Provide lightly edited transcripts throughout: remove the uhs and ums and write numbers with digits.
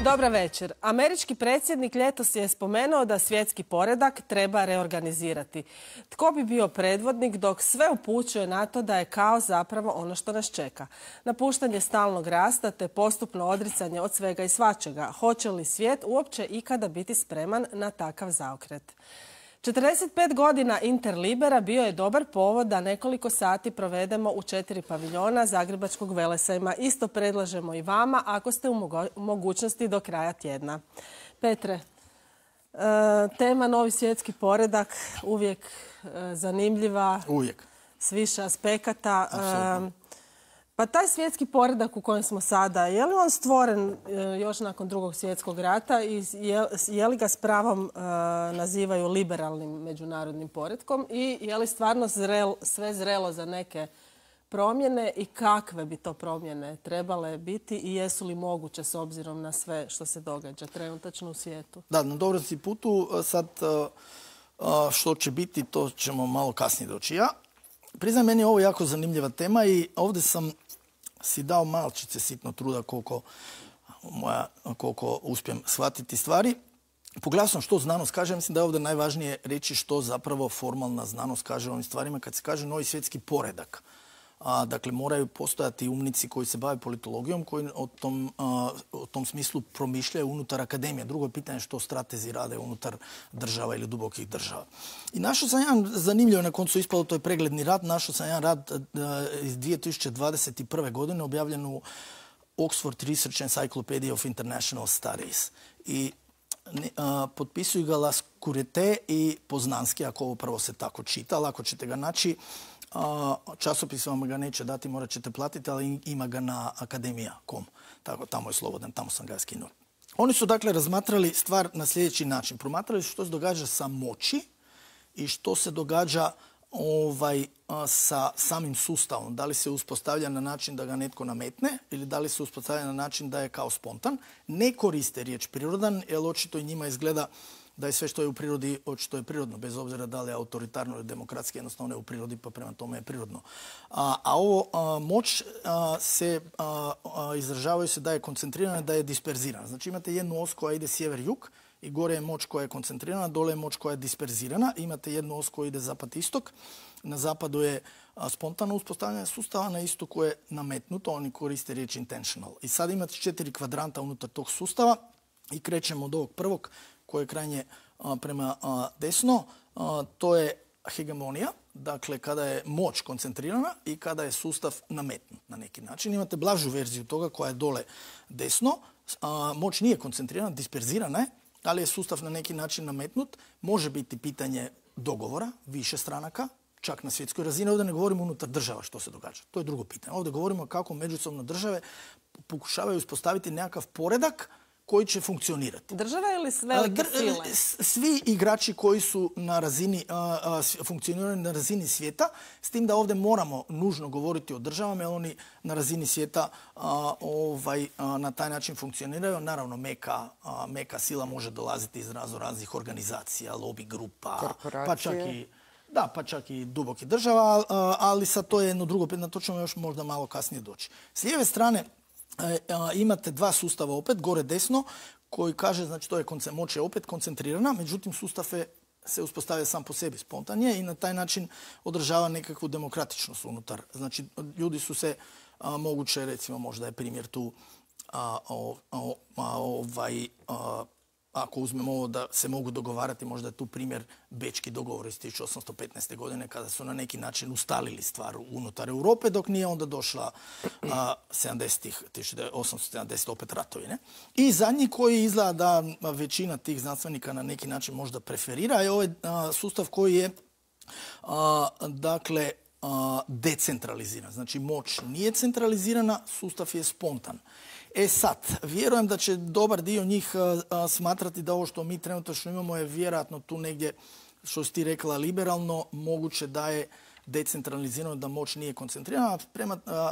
Dobra večer. Američki predsjednik ljetos je spomenuo da svjetski poredak treba reorganizirati. Tko bi bio predvodnik dok sve upućuje na to da je kaos zapravo ono što nas čeka? Napuštanje stalnog rasta te postupno odricanje od svega i svačega. Hoće li svijet uopće ikada biti spreman na takav zaokret? 45 godina Interlibera bio je dobar povod da nekoliko sati provedemo u 4 paviljona Zagrebačkog Velesajma. Isto predlažemo i vama ako ste u mogućnosti do kraja tjedna. Petre, tema novi svjetski poredak, uvijek zanimljiva. Uvijek. S više aspekata. Pa taj svjetski poredak u kojem smo sada, je li on stvoren još nakon Drugog svjetskog rata i je li ga s pravom nazivaju liberalnim međunarodnim poretkom i je li stvarno sve zrelo za neke promjene i kakve bi to promjene trebale biti i jesu li moguće s obzirom na sve što se događa trenutačno u svijetu? Da, na dobrom si putu. Sad što će biti, to ćemo malo kasnije doći. Ja priznam, meni je ovo jako zanimljiva tema i ovdje sam si dao malčice sitno truda koliko uspijem shvatiti stvari. Pogledao sam što znanost kaže, mislim da je ovdje najvažnije reći što zapravo formalna znanost kaže o ovim stvarima kad se kaže novi svjetski poredak. Dakle, moraju postojati umnici koji se bave politologijom, koji o tom smislu promišljaju unutar akademije. Drugo je pitanje što stratezi rade unutar država ili dubokih država. I našao sam jedan zanimljiv, na koncu ispalo, to je pregledni rad, našao sam jedan rad iz 2021. godine objavljen u Oxford Research Encyclopedia of International Studies. I potpisuju ga Lascurete i Poznanski, ako ovo prvo se tako čita, ali ako ćete ga naći, časopis vam ga neće dati, morat ćete platiti, ali ima ga na akademija.com. Tako, tamo je slobodan, tamo sam ga skinuo. Oni su dakle razmatrali stvar na sljedeći način. Promatrali su što se događa sa moći i što se događa sa samim sustavom. Da li se uspostavlja na način da ga netko nametne ili da li se uspostavlja na način da je kao spontan. Ne koriste riječ prirodan, jer očito i njima izgleda da je sve što je u prirodi očito je prirodno, bez obzira da li je autoritarno ili demokratski, jednostavno je u prirodi, pa prema tome je prirodno. A ovo moć se izražavaju se da je koncentrirana, da je disperzirana. Znači imate jednu os koja ide sjever-jug i gore je moć koja je koncentrirana, dole je moć koja je disperzirana. Imate jednu os koja ide zapad-istok. Na zapadu je spontano uspostavljanje sustava, na istoku je nametnuto, oni koriste riječ intentional. I sad imate 4 kvadranta unutar tog sustava i krećemo od ovog prvog koje je krajnje prema desno. To je hegemonija, dakle kada je moć koncentrirana i kada je sustav nametnut na neki način. Imate blažu verziju toga koja je dole desno. Moć nije koncentrirana, disperzirana je, ali je sustav na neki način nametnut. Može biti pitanje dogovora više stranaka, čak na svjetskoj razini. Ovdje ne govorimo unutar država što se događa. To je drugo pitanje. Ovdje govorimo kako međusobno države pokušavaju uspostaviti nekakav poredak koji će funkcionirati. Država ili velike sile? Svi igrači koji su na razini, funkcioniraju na razini svijeta, s tim da ovdje moramo nužno govoriti o državama, jer oni na razini svijeta na taj način funkcioniraju. Naravno, meka sila može dolaziti iz raznih organizacija, lobby grupa, pa čak i dubokih država, ali sad to je jedno drugo pitanje, na to ćemo još možda malo kasnije doći. S lijeve strane imate dva sustava opet, gore desno, koji kaže, znači to je moć je opet koncentrirana, međutim sustav se uspostavlja sam po sebi spontanije i na taj način održava nekakvu demokratičnost unutar. Znači ljudi su se moguće, recimo možda je primjer tu ako uzmemo ovo da se mogu dogovarati, možda je tu primjer bečki dogovor iz 1815. godine kada su na neki način ustalili stvar unutar Europe, dok nije onda došla 1870. opet ratovi. Ne? I zadnji koji izgleda da većina tih znanstvenika na neki način možda preferira je ovaj sustav koji je decentraliziran. Znači moć nije centralizirana, sustav je spontan. Sad, vjerujem da će dobar dio njih smatrati da ovo što mi trenutno imamo je vjerojatno tu negdje, što si ti rekla, liberalno, moguće da je decentralizirano, da moć nije koncentrirana,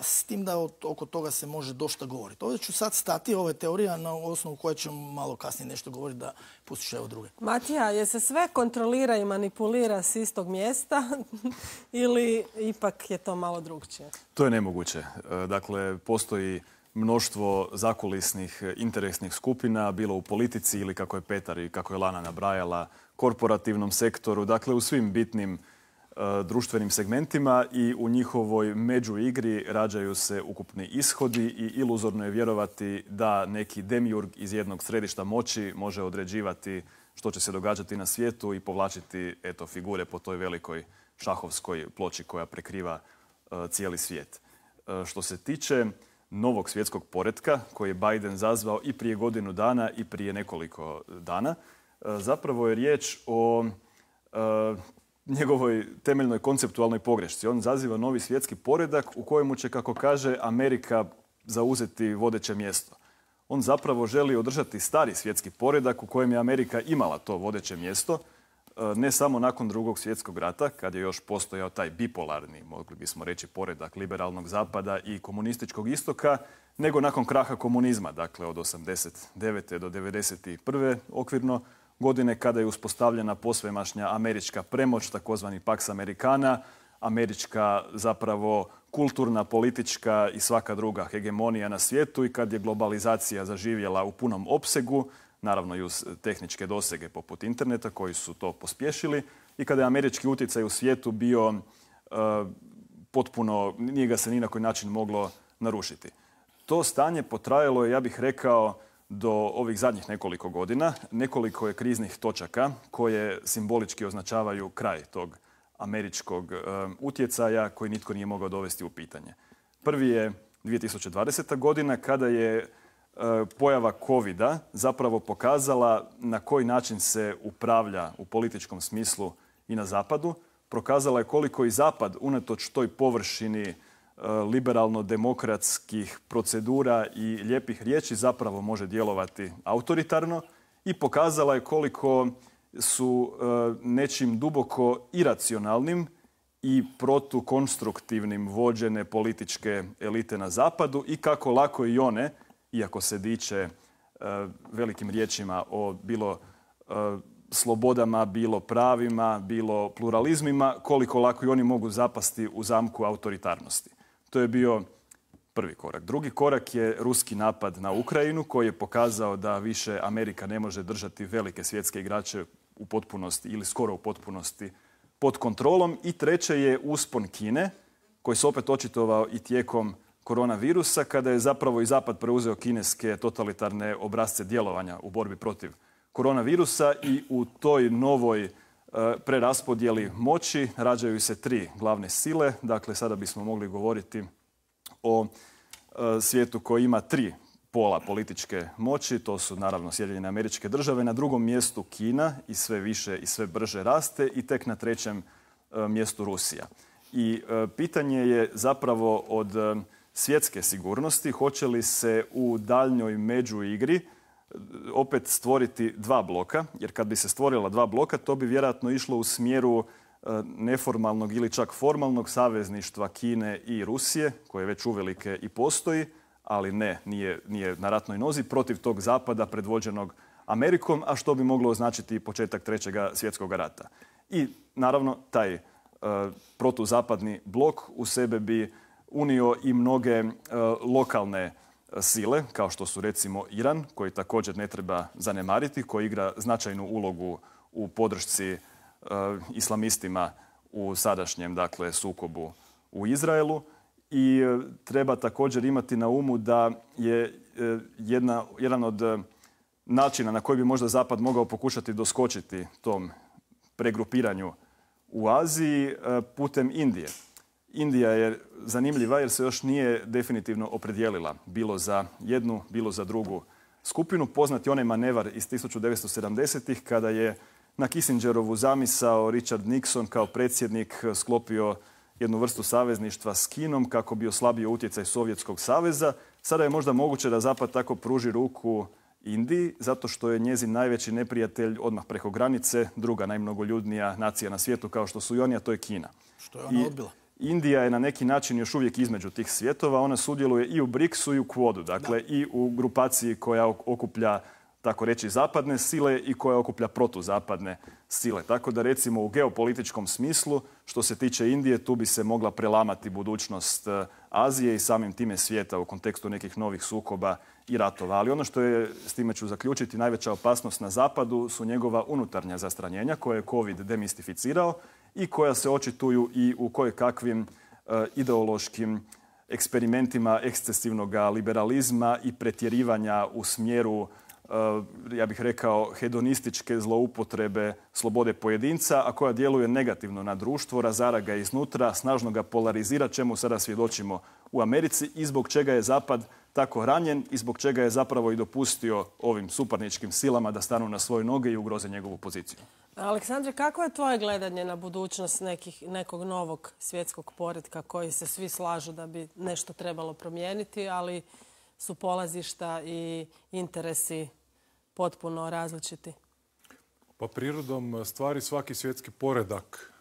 s tim da oko toga se može dosta govoriti. Ovdje ću sad stati, ovo je teorija na osnovu koje ćemo malo kasnije nešto govoriti da pustiš evo druge. Matija, je se sve kontrolira i manipulira s istog mjesta ili ipak je to malo drugčije? To je nemoguće. Dakle, postoji mnoštvo zakulisnih interesnih skupina, bilo u politici ili kako je Petar i kako je Lana nabrajala, korporativnom sektoru, dakle u svim bitnim društvenim segmentima i u njihovoj međuigri rađaju se ukupni ishodi i iluzorno je vjerovati da neki demiurg iz jednog središta moći može određivati što će se događati na svijetu i povlačiti figure po toj velikoj šahovskoj ploči koja prekriva cijeli svijet. Što se tiče novog svjetskog poretka koji je Biden zazvao i prije godinu dana i prije nekoliko dana, zapravo je riječ o njegovoj temeljnoj konceptualnoj pogrešci. On zaziva novi svjetski poredak u kojemu će, kako kaže, Amerika zauzeti vodeće mjesto. On zapravo želi održati stari svjetski poredak u kojem je Amerika imala to vodeće mjesto, ne samo nakon Drugog svjetskog rata, kad je još postojao taj bipolarni, mogli bismo reći, poredak liberalnog zapada i komunističkog istoka, nego nakon kraha komunizma, dakle od 89. do 91. okvirno godine, kada je uspostavljena posvemašnja američka premoć, takozvani Pax Americana, američka zapravo kulturna, politička i svaka druga hegemonija na svijetu i kad je globalizacija zaživjela u punom opsegu, naravno i uz tehničke dosege poput interneta koji su to pospješili i kada je američki utjecaj u svijetu bio potpuno, nije ga se ni na koji način moglo narušiti. To stanje potrajalo je, ja bih rekao, do ovih zadnjih nekoliko godina. Nekoliko je kriznih točaka koje simbolički označavaju kraj tog američkog utjecaja koji nitko nije mogao dovesti u pitanje. Prvi je 2020. godina kada je pojava covida zapravo pokazala na koji način se upravlja u političkom smislu i na zapadu. Prokazala je koliko i zapad, unatoč toj površini liberalno-demokratskih procedura i lijepih riječi, zapravo može djelovati autoritarno i pokazala je koliko su nečim duboko iracionalnim i protukonstruktivnim vođene političke elite na zapadu i kako lako i one, iako se diče velikim riječima o bilo slobodama, bilo pravima, bilo pluralizmima, koliko lako i oni mogu zapasti u zamku autoritarnosti. To je bio prvi korak. Drugi korak je ruski napad na Ukrajinu koji je pokazao da više Amerika ne može držati velike svjetske igrače u potpunosti ili skoro u potpunosti pod kontrolom. I treće je uspon Kine koji se opet očitovao i tijekom koronavirusa kada je zapravo i Zapad preuzeo kineske totalitarne obrasce djelovanja u borbi protiv koronavirusa i u toj novoj preraspodjeli moći rađaju se tri glavne sile. Dakle, sada bismo mogli govoriti o svijetu koji ima tri pola političke moći. To su naravno Sjedinjene Američke Države, na drugom mjestu Kina i sve više i sve brže raste i tek na trećem mjestu Rusija. I pitanje je zapravo od svjetske sigurnosti hoće li se u daljnjoj međuigri opet stvoriti dva bloka, jer kad bi se stvorila dva bloka, to bi vjerojatno išlo u smjeru neformalnog ili čak formalnog savezništva Kine i Rusije, koje već uvelike i postoji, ali nije na ratnoj nozi, protiv tog zapada predvođenog Amerikom, a što bi moglo označiti početak Trećega svjetskog rata. I naravno taj protuzapadni blok u sebe bi unio i mnoge lokalne sile, kao što su recimo Iran, koji također ne treba zanemariti, koji igra značajnu ulogu u podršci islamistima u sadašnjem sukobu u Izraelu. I treba također imati na umu da je jedan od načina na koji bi možda Zapad mogao pokušati doskočiti tom pregrupiranju u Aziji putem Indije. Indija je zanimljiva jer se još nije definitivno opredijelila bilo za jednu, bilo za drugu skupinu. Poznat je onaj manevar iz 1970-ih kada je na Kissingerovu zamisao Richard Nixon kao predsjednik sklopio jednu vrstu savezništva s Kinom kako bi oslabio utjecaj Sovjetskog saveza. Sada je možda moguće da Zapad tako pruži ruku Indiji, zato što je njezin najveći neprijatelj odmah preko granice, druga najmnogoljudnija nacija na svijetu kao što su i oni, a to je Kina. Što je ona odbila? Indija je na neki način još uvijek između tih svjetova. Ona sudjeluje i u BRICS-u i u Quadu, dakle i u grupaciji koja okuplja tako reći, zapadne sile i koja okuplja protuzapadne sile. Tako da recimo u geopolitičkom smislu, što se tiče Indije, tu bi se mogla prelamati budućnost Azije i samim time svijeta u kontekstu nekih novih sukoba i ratova. Ali ono što je, s time ću zaključiti, najveća opasnost na zapadu su njegova unutarnja zastranjenja koje je COVID demistificirao i koja se očituju i u kojekakvim ideološkim eksperimentima ekscesivnog liberalizma i pretjerivanja u smjeru, ja bih rekao, hedonističke zloupotrebe slobode pojedinca, a koja djeluje negativno na društvo, razara ga iznutra, snažno ga polarizira, čemu sada svjedočimo u Americi i zbog čega je Zapad tako ranjen i zbog čega je zapravo i dopustio ovim suparničkim silama da stanu na svoje noge i ugroze njegovu poziciju. Aleksandre, kako je tvoje gledanje na budućnost nekog novog svjetskog poretka koji se svi slažu da bi nešto trebalo promijeniti, ali su polazišta i interesi potpuno različiti? Pa prirodom stvari svaki svjetski poredak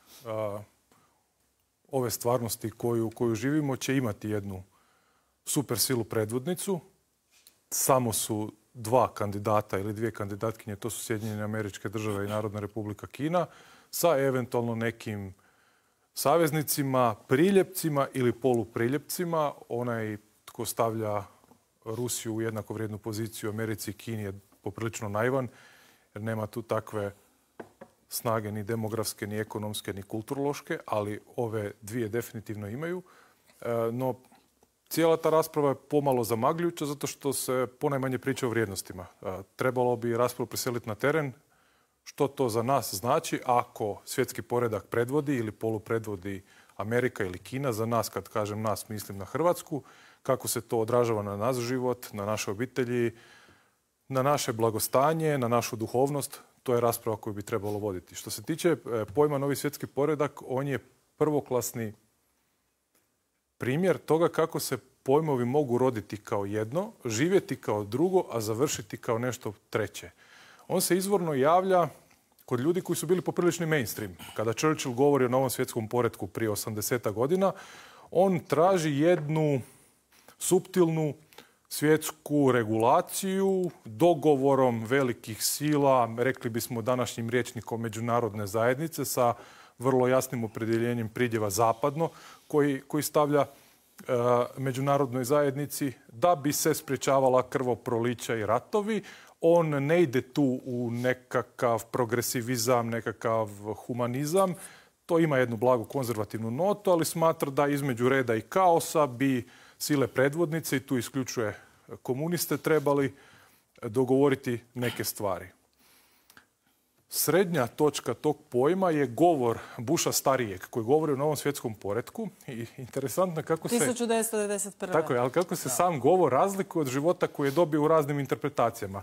ove stvarnosti koju živimo će imati jednu super silu predvodnicu. Samo su dva kandidata ili dvije kandidatkinje, to su Sjedinjene Američke Države i Narodna Republika Kina, sa eventualno nekim saveznicima, priljepcima ili polupriljepcima. Onaj tko stavlja Rusiju u jednakovrijednu poziciju Americi i Kini je poprilično naivan, jer nema tu takve snage ni demografske, ni ekonomske, ni kulturološke, ali ove dvije definitivno imaju. No, cijela ta rasprava je pomalo zamagljujuća zato što se ponajmanje priča o vrijednostima. Trebalo bi raspravu preseliti na teren. Što to za nas znači ako svjetski poredak predvodi ili polupredvodi Amerika ili Kina? Za nas, kad kažem nas, mislim na Hrvatsku. Kako se to odražava na naš život, na naše obitelji, na naše blagostanje, na našu duhovnost. To je rasprava koju bi trebalo voditi. Što se tiče pojma novi svjetski poredak, on je prvoklasni primjer toga kako se pojmovi mogu roditi kao jedno, živjeti kao drugo, a završiti kao nešto treće. On se izvorno javlja kod ljudi koji su bili poprilični mainstream. Kada Churchill govori o novom svjetskom poretku prije 80 godina, on traži jednu suptilnu svjetsku regulaciju dogovorom velikih sila, rekli bismo današnjim rječnikom međunarodne zajednice, sa vrlo jasnim opredjeljenjem pridjeva zapadno, koji stavlja međunarodnoj zajednici da bi se sprječavala krvoprolića i ratovi. On ne ide tu u nekakav progresivizam, nekakav humanizam. To ima jednu blagu konzervativnu notu, ali smatra da između reda i kaosa bi sile predvodnice, i tu isključuje komuniste, trebali dogovoriti neke stvari. Srednja točka tog pojma je govor Busha starijeg koji govori o novom svjetskom poretku. I interesantno kako se... 1991. Tako je, ali kako se sam govor razlikuje od života koji je dobio u raznim interpretacijama.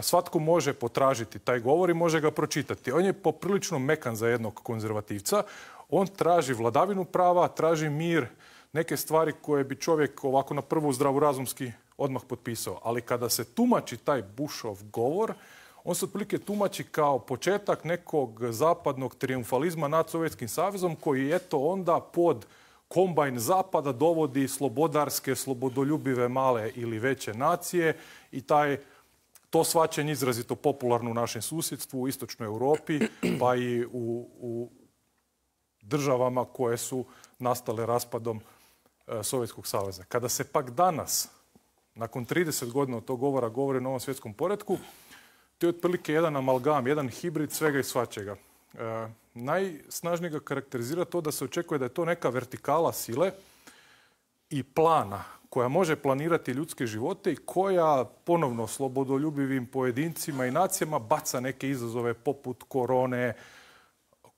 Svatko može potražiti taj govor i može ga pročitati. On je poprilično mekan za jednog konzervativca. On traži vladavinu prava, traži mir, neke stvari koje bi čovjek ovako na prvu zdravorazumski odmah potpisao. Ali kada se tumači taj Bushov govor, on se otprilike tumači kao početak nekog zapadnog trijumfalizma nad Sovjetskim savezom koji eto onda pod kombajn zapada dovodi slobodarske, slobodoljubive male ili veće nacije i to shvaćanje izrazito popularno u našem susjedstvu, u istočnoj Europi, pa i u državama koje su nastale raspadom Sovjetskog saveza. Kada se pak danas, nakon 30 godina od tog govora, govori o novom svjetskom poretku, to je otprilike jedan amalgam, jedan hibrid svega i svačega. Najsnažnije ga karakterizira to da se očekuje da je to neka vertikala sile i plana koja može planirati ljudske živote i koja ponovno slobodoljubivim pojedincima i nacijama baca neke izazove poput korone,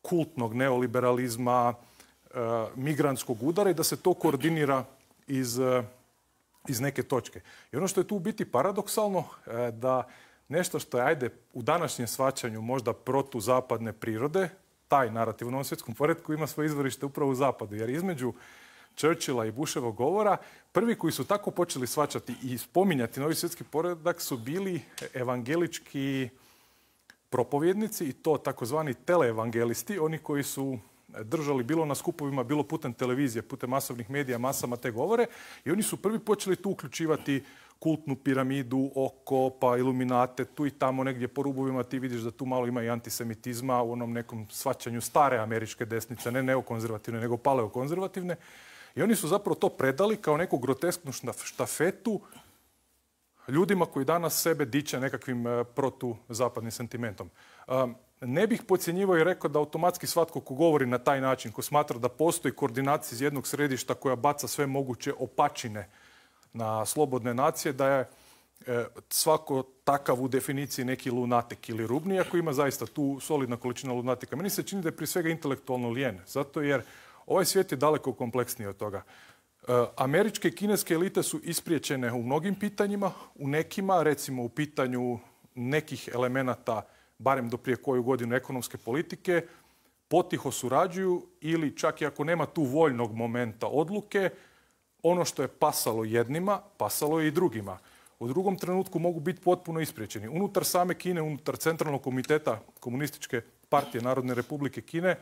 kultnog neoliberalizma, migrantskog udara i da se to koordinira iz neke točke. I ono što je tu u biti paradoksalno, da nešto što je, ajde, u današnjem shvaćanju možda protuzapadne prirode, taj narativ u novom svjetskom poretku ima svoje izvorište upravo u zapadu. Jer između Churchilla i Bushevog govora, prvi koji su tako počeli shvaćati i spominjati novi svjetski poredak su bili evangelički propovjednici i to takozvani teleevangelisti, oni koji su držali bilo na skupovima, bilo putem televizije, putem masovnih medija, masama te govore i oni su prvi počeli tu uključivati kultnu piramidu oko, pa iluminate, tu i tamo negdje po rubovima ti vidiš da tu malo ima i antisemitizma u onom nekom shvaćanju stare američke desnice, ne neokonzervativne, nego paleokonzervativne. I oni su zapravo to predali kao neku grotesknu štafetu ljudima koji danas sebe diče nekakvim protuzapadnim sentimentom. Ne bih podcjenjivao i rekao da automatski svatko ko govori na taj način, ko smatra da postoji koordinacija iz jednog središta koja baca sve moguće opačine na slobodne nacije, da je svako takav u definiciji neki lunatik ili rubni, ako ima zaista tu solidna količina lunatika. Meni se čini da je prije svega intelektualno lijen, zato jer ovaj svijet je daleko kompleksniji od toga. Američke i kineske elite su ispriječene u mnogim pitanjima, u nekima, recimo u pitanju nekih elemenata, barem do prije koju godinu ekonomske politike, potiho surađuju ili čak i ako nema tu voljnog momenta odluke, ono što je pasalo jednima, pasalo je i drugima. U drugom trenutku mogu biti potpuno ispriječeni. Unutar same Kine, unutar Centralnog komiteta Komunističke partije Narodne republike Kine,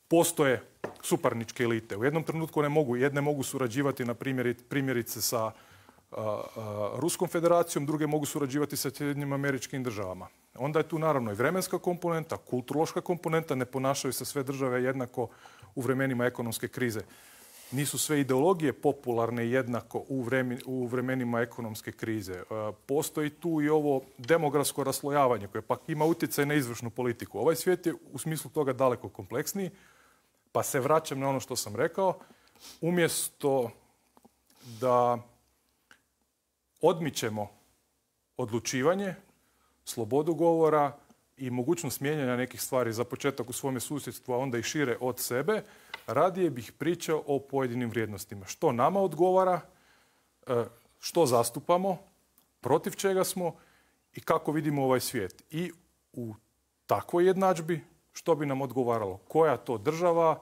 postoje suparničke elite. U jednom trenutku jedne mogu surađivati na primjerice sa Ruskom federacijom, druge mogu surađivati sa Sjedinjenim Američkim Državama. Onda je tu naravno i vremenska komponenta, kulturološka komponenta, ne ponašaju se sve države jednako u vremenima ekonomske krize. Nisu sve ideologije popularne jednako u vremenima ekonomske krize. Postoji tu i ovo demografsko raslojavanje koje pak ima utjecaj na izvršnu politiku. Ovaj svijet je u smislu toga daleko kompleksniji, pa se vraćam na ono što sam rekao. Umjesto da odmičemo odlučivanje, slobodu govora i mogućnost mijenjanja nekih stvari za početak u svome susjedstvu, a onda i šire od sebe, radije bih pričao o pojedinim vrijednostima. Što nama odgovara, što zastupamo, protiv čega smo i kako vidimo ovaj svijet. I u takvoj jednadžbi što bi nam odgovaralo? Koja to država,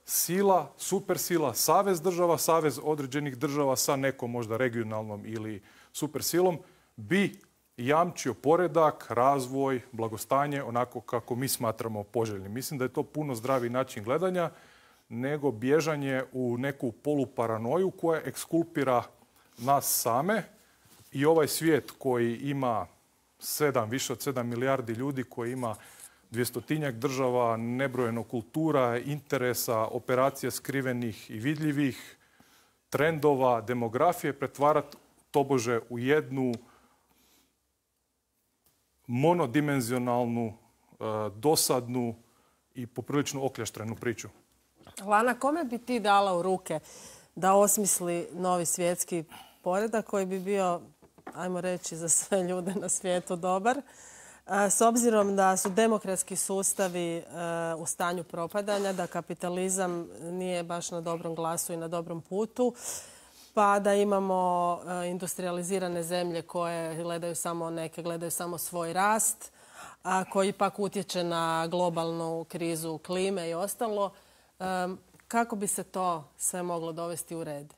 sila, supersila, savez država, savez određenih država sa nekom možda regionalnom ili supersilom bi jamčio poredak, razvoj, blagostanje onako kako mi smatramo poželjnim. Mislim da je to puno zdraviji način gledanja nego bježanje u neku poluparanoju koja ekskulpira nas same i ovaj svijet koji ima više od 7 milijardi ljudi, koji ima 200-tinjak država, nebrojeno kultura, interesa, operacija skrivenih i vidljivih, trendova, demografije, pretvarati tobože u jednu monodimenzionalnu, dosadnu i poprilično okljaštrenu priču. Lana, kome bi ti dala u ruke da osmisli novi svjetski poredak koji bi bio, ajmo reći, za sve ljude na svijetu dobar? S obzirom da su demokratski sustavi u stanju propadanja, da kapitalizam nije baš na dobrom glasu i na dobrom putu, pa da imamo industrializirane zemlje koje gledaju samo svoj rast, a koji pak utječe na globalnu krizu klime i ostalo. Kako bi se to sve moglo dovesti u red?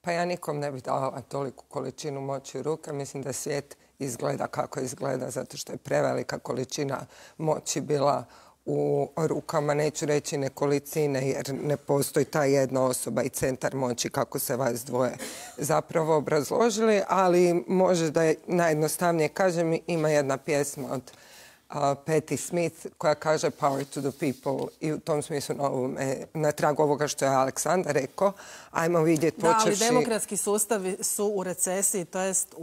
Pa ja nikom ne bih dala toliku količinu moći u ruke. Mislim da svijet izgleda kako izgleda zato što je prevelika količina moći bila u rukama, neću reći nekolicine, jer ne postoji ta jedna osoba i centar moći kako se vas dvoje zapravo obrazložili, ali može da je najjednostavnije kažem, ima jedna pjesma od Patti Smith koja kaže Power to the people i u tom smislu na tragu ovoga što je Aleksandar rekao, ajmo vidjeti počevši... Da, ali demokratski sustavi su u recesiji, to jest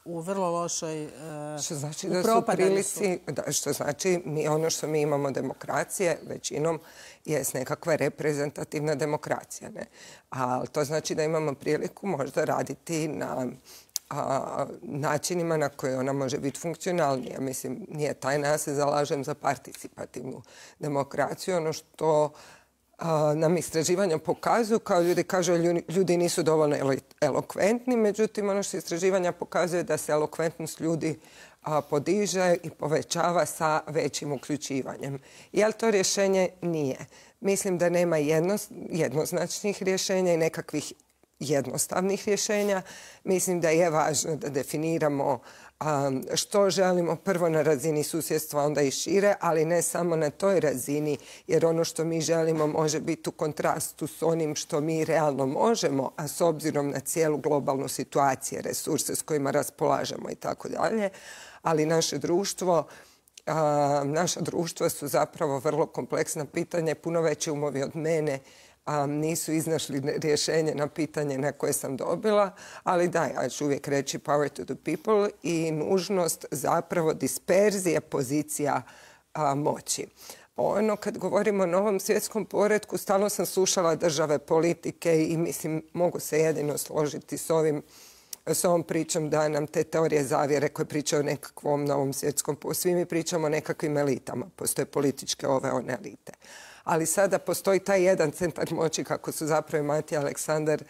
u vrlo lošoj što znači da su prilici, što znači ono što mi imamo demokracije većinom je nekakva reprezentativna demokracija. Ne? Ali to znači da imamo priliku možda raditi na načinima na koje ona može biti funkcionalnija. Mislim, nije tajna, ja se zalažem za participativnu demokraciju. Ono što nam istraživanja pokazuju, kao ljudi kažu, ljudi nisu dovoljno elokventni, međutim, ono što istraživanja pokazuje da se elokventnost ljudi podiže i povećava sa većim uključivanjem. Je li to rješenje? Nije. Mislim da nema jednoznačnih rješenja i nekakvih jednostavnih rješenja. Mislim da je važno da definiramo što želimo prvo na razini susjedstva, onda i šire, ali ne samo na toj razini, jer ono što mi želimo može biti u kontrastu s onim što mi realno možemo, a s obzirom na cijelu globalnu situaciju, resurse s kojima raspolažemo i tako dalje. Ali naša društva su zapravo vrlo kompleksna pitanja, puno veći umovi od mene nisu iznašli rješenje na pitanje na koje sam dobila, ali da, ja ću uvijek reći power to the people i nužnost zapravo disperzije pozicija moći. Ono, kad govorimo o novom svjetskom poretku, stalno sam slušala države, politike i mislim, mogu se jedino složiti s ovom pričom da nam te teorije zavjere koje pričaju o nekakvom novom svjetskom poretku. Svi mi pričamo o nekakvim elitama. Postoje političke one elite. Ali sada postoji taj jedan centar moći, kako su zapravo Matija i Aleksandar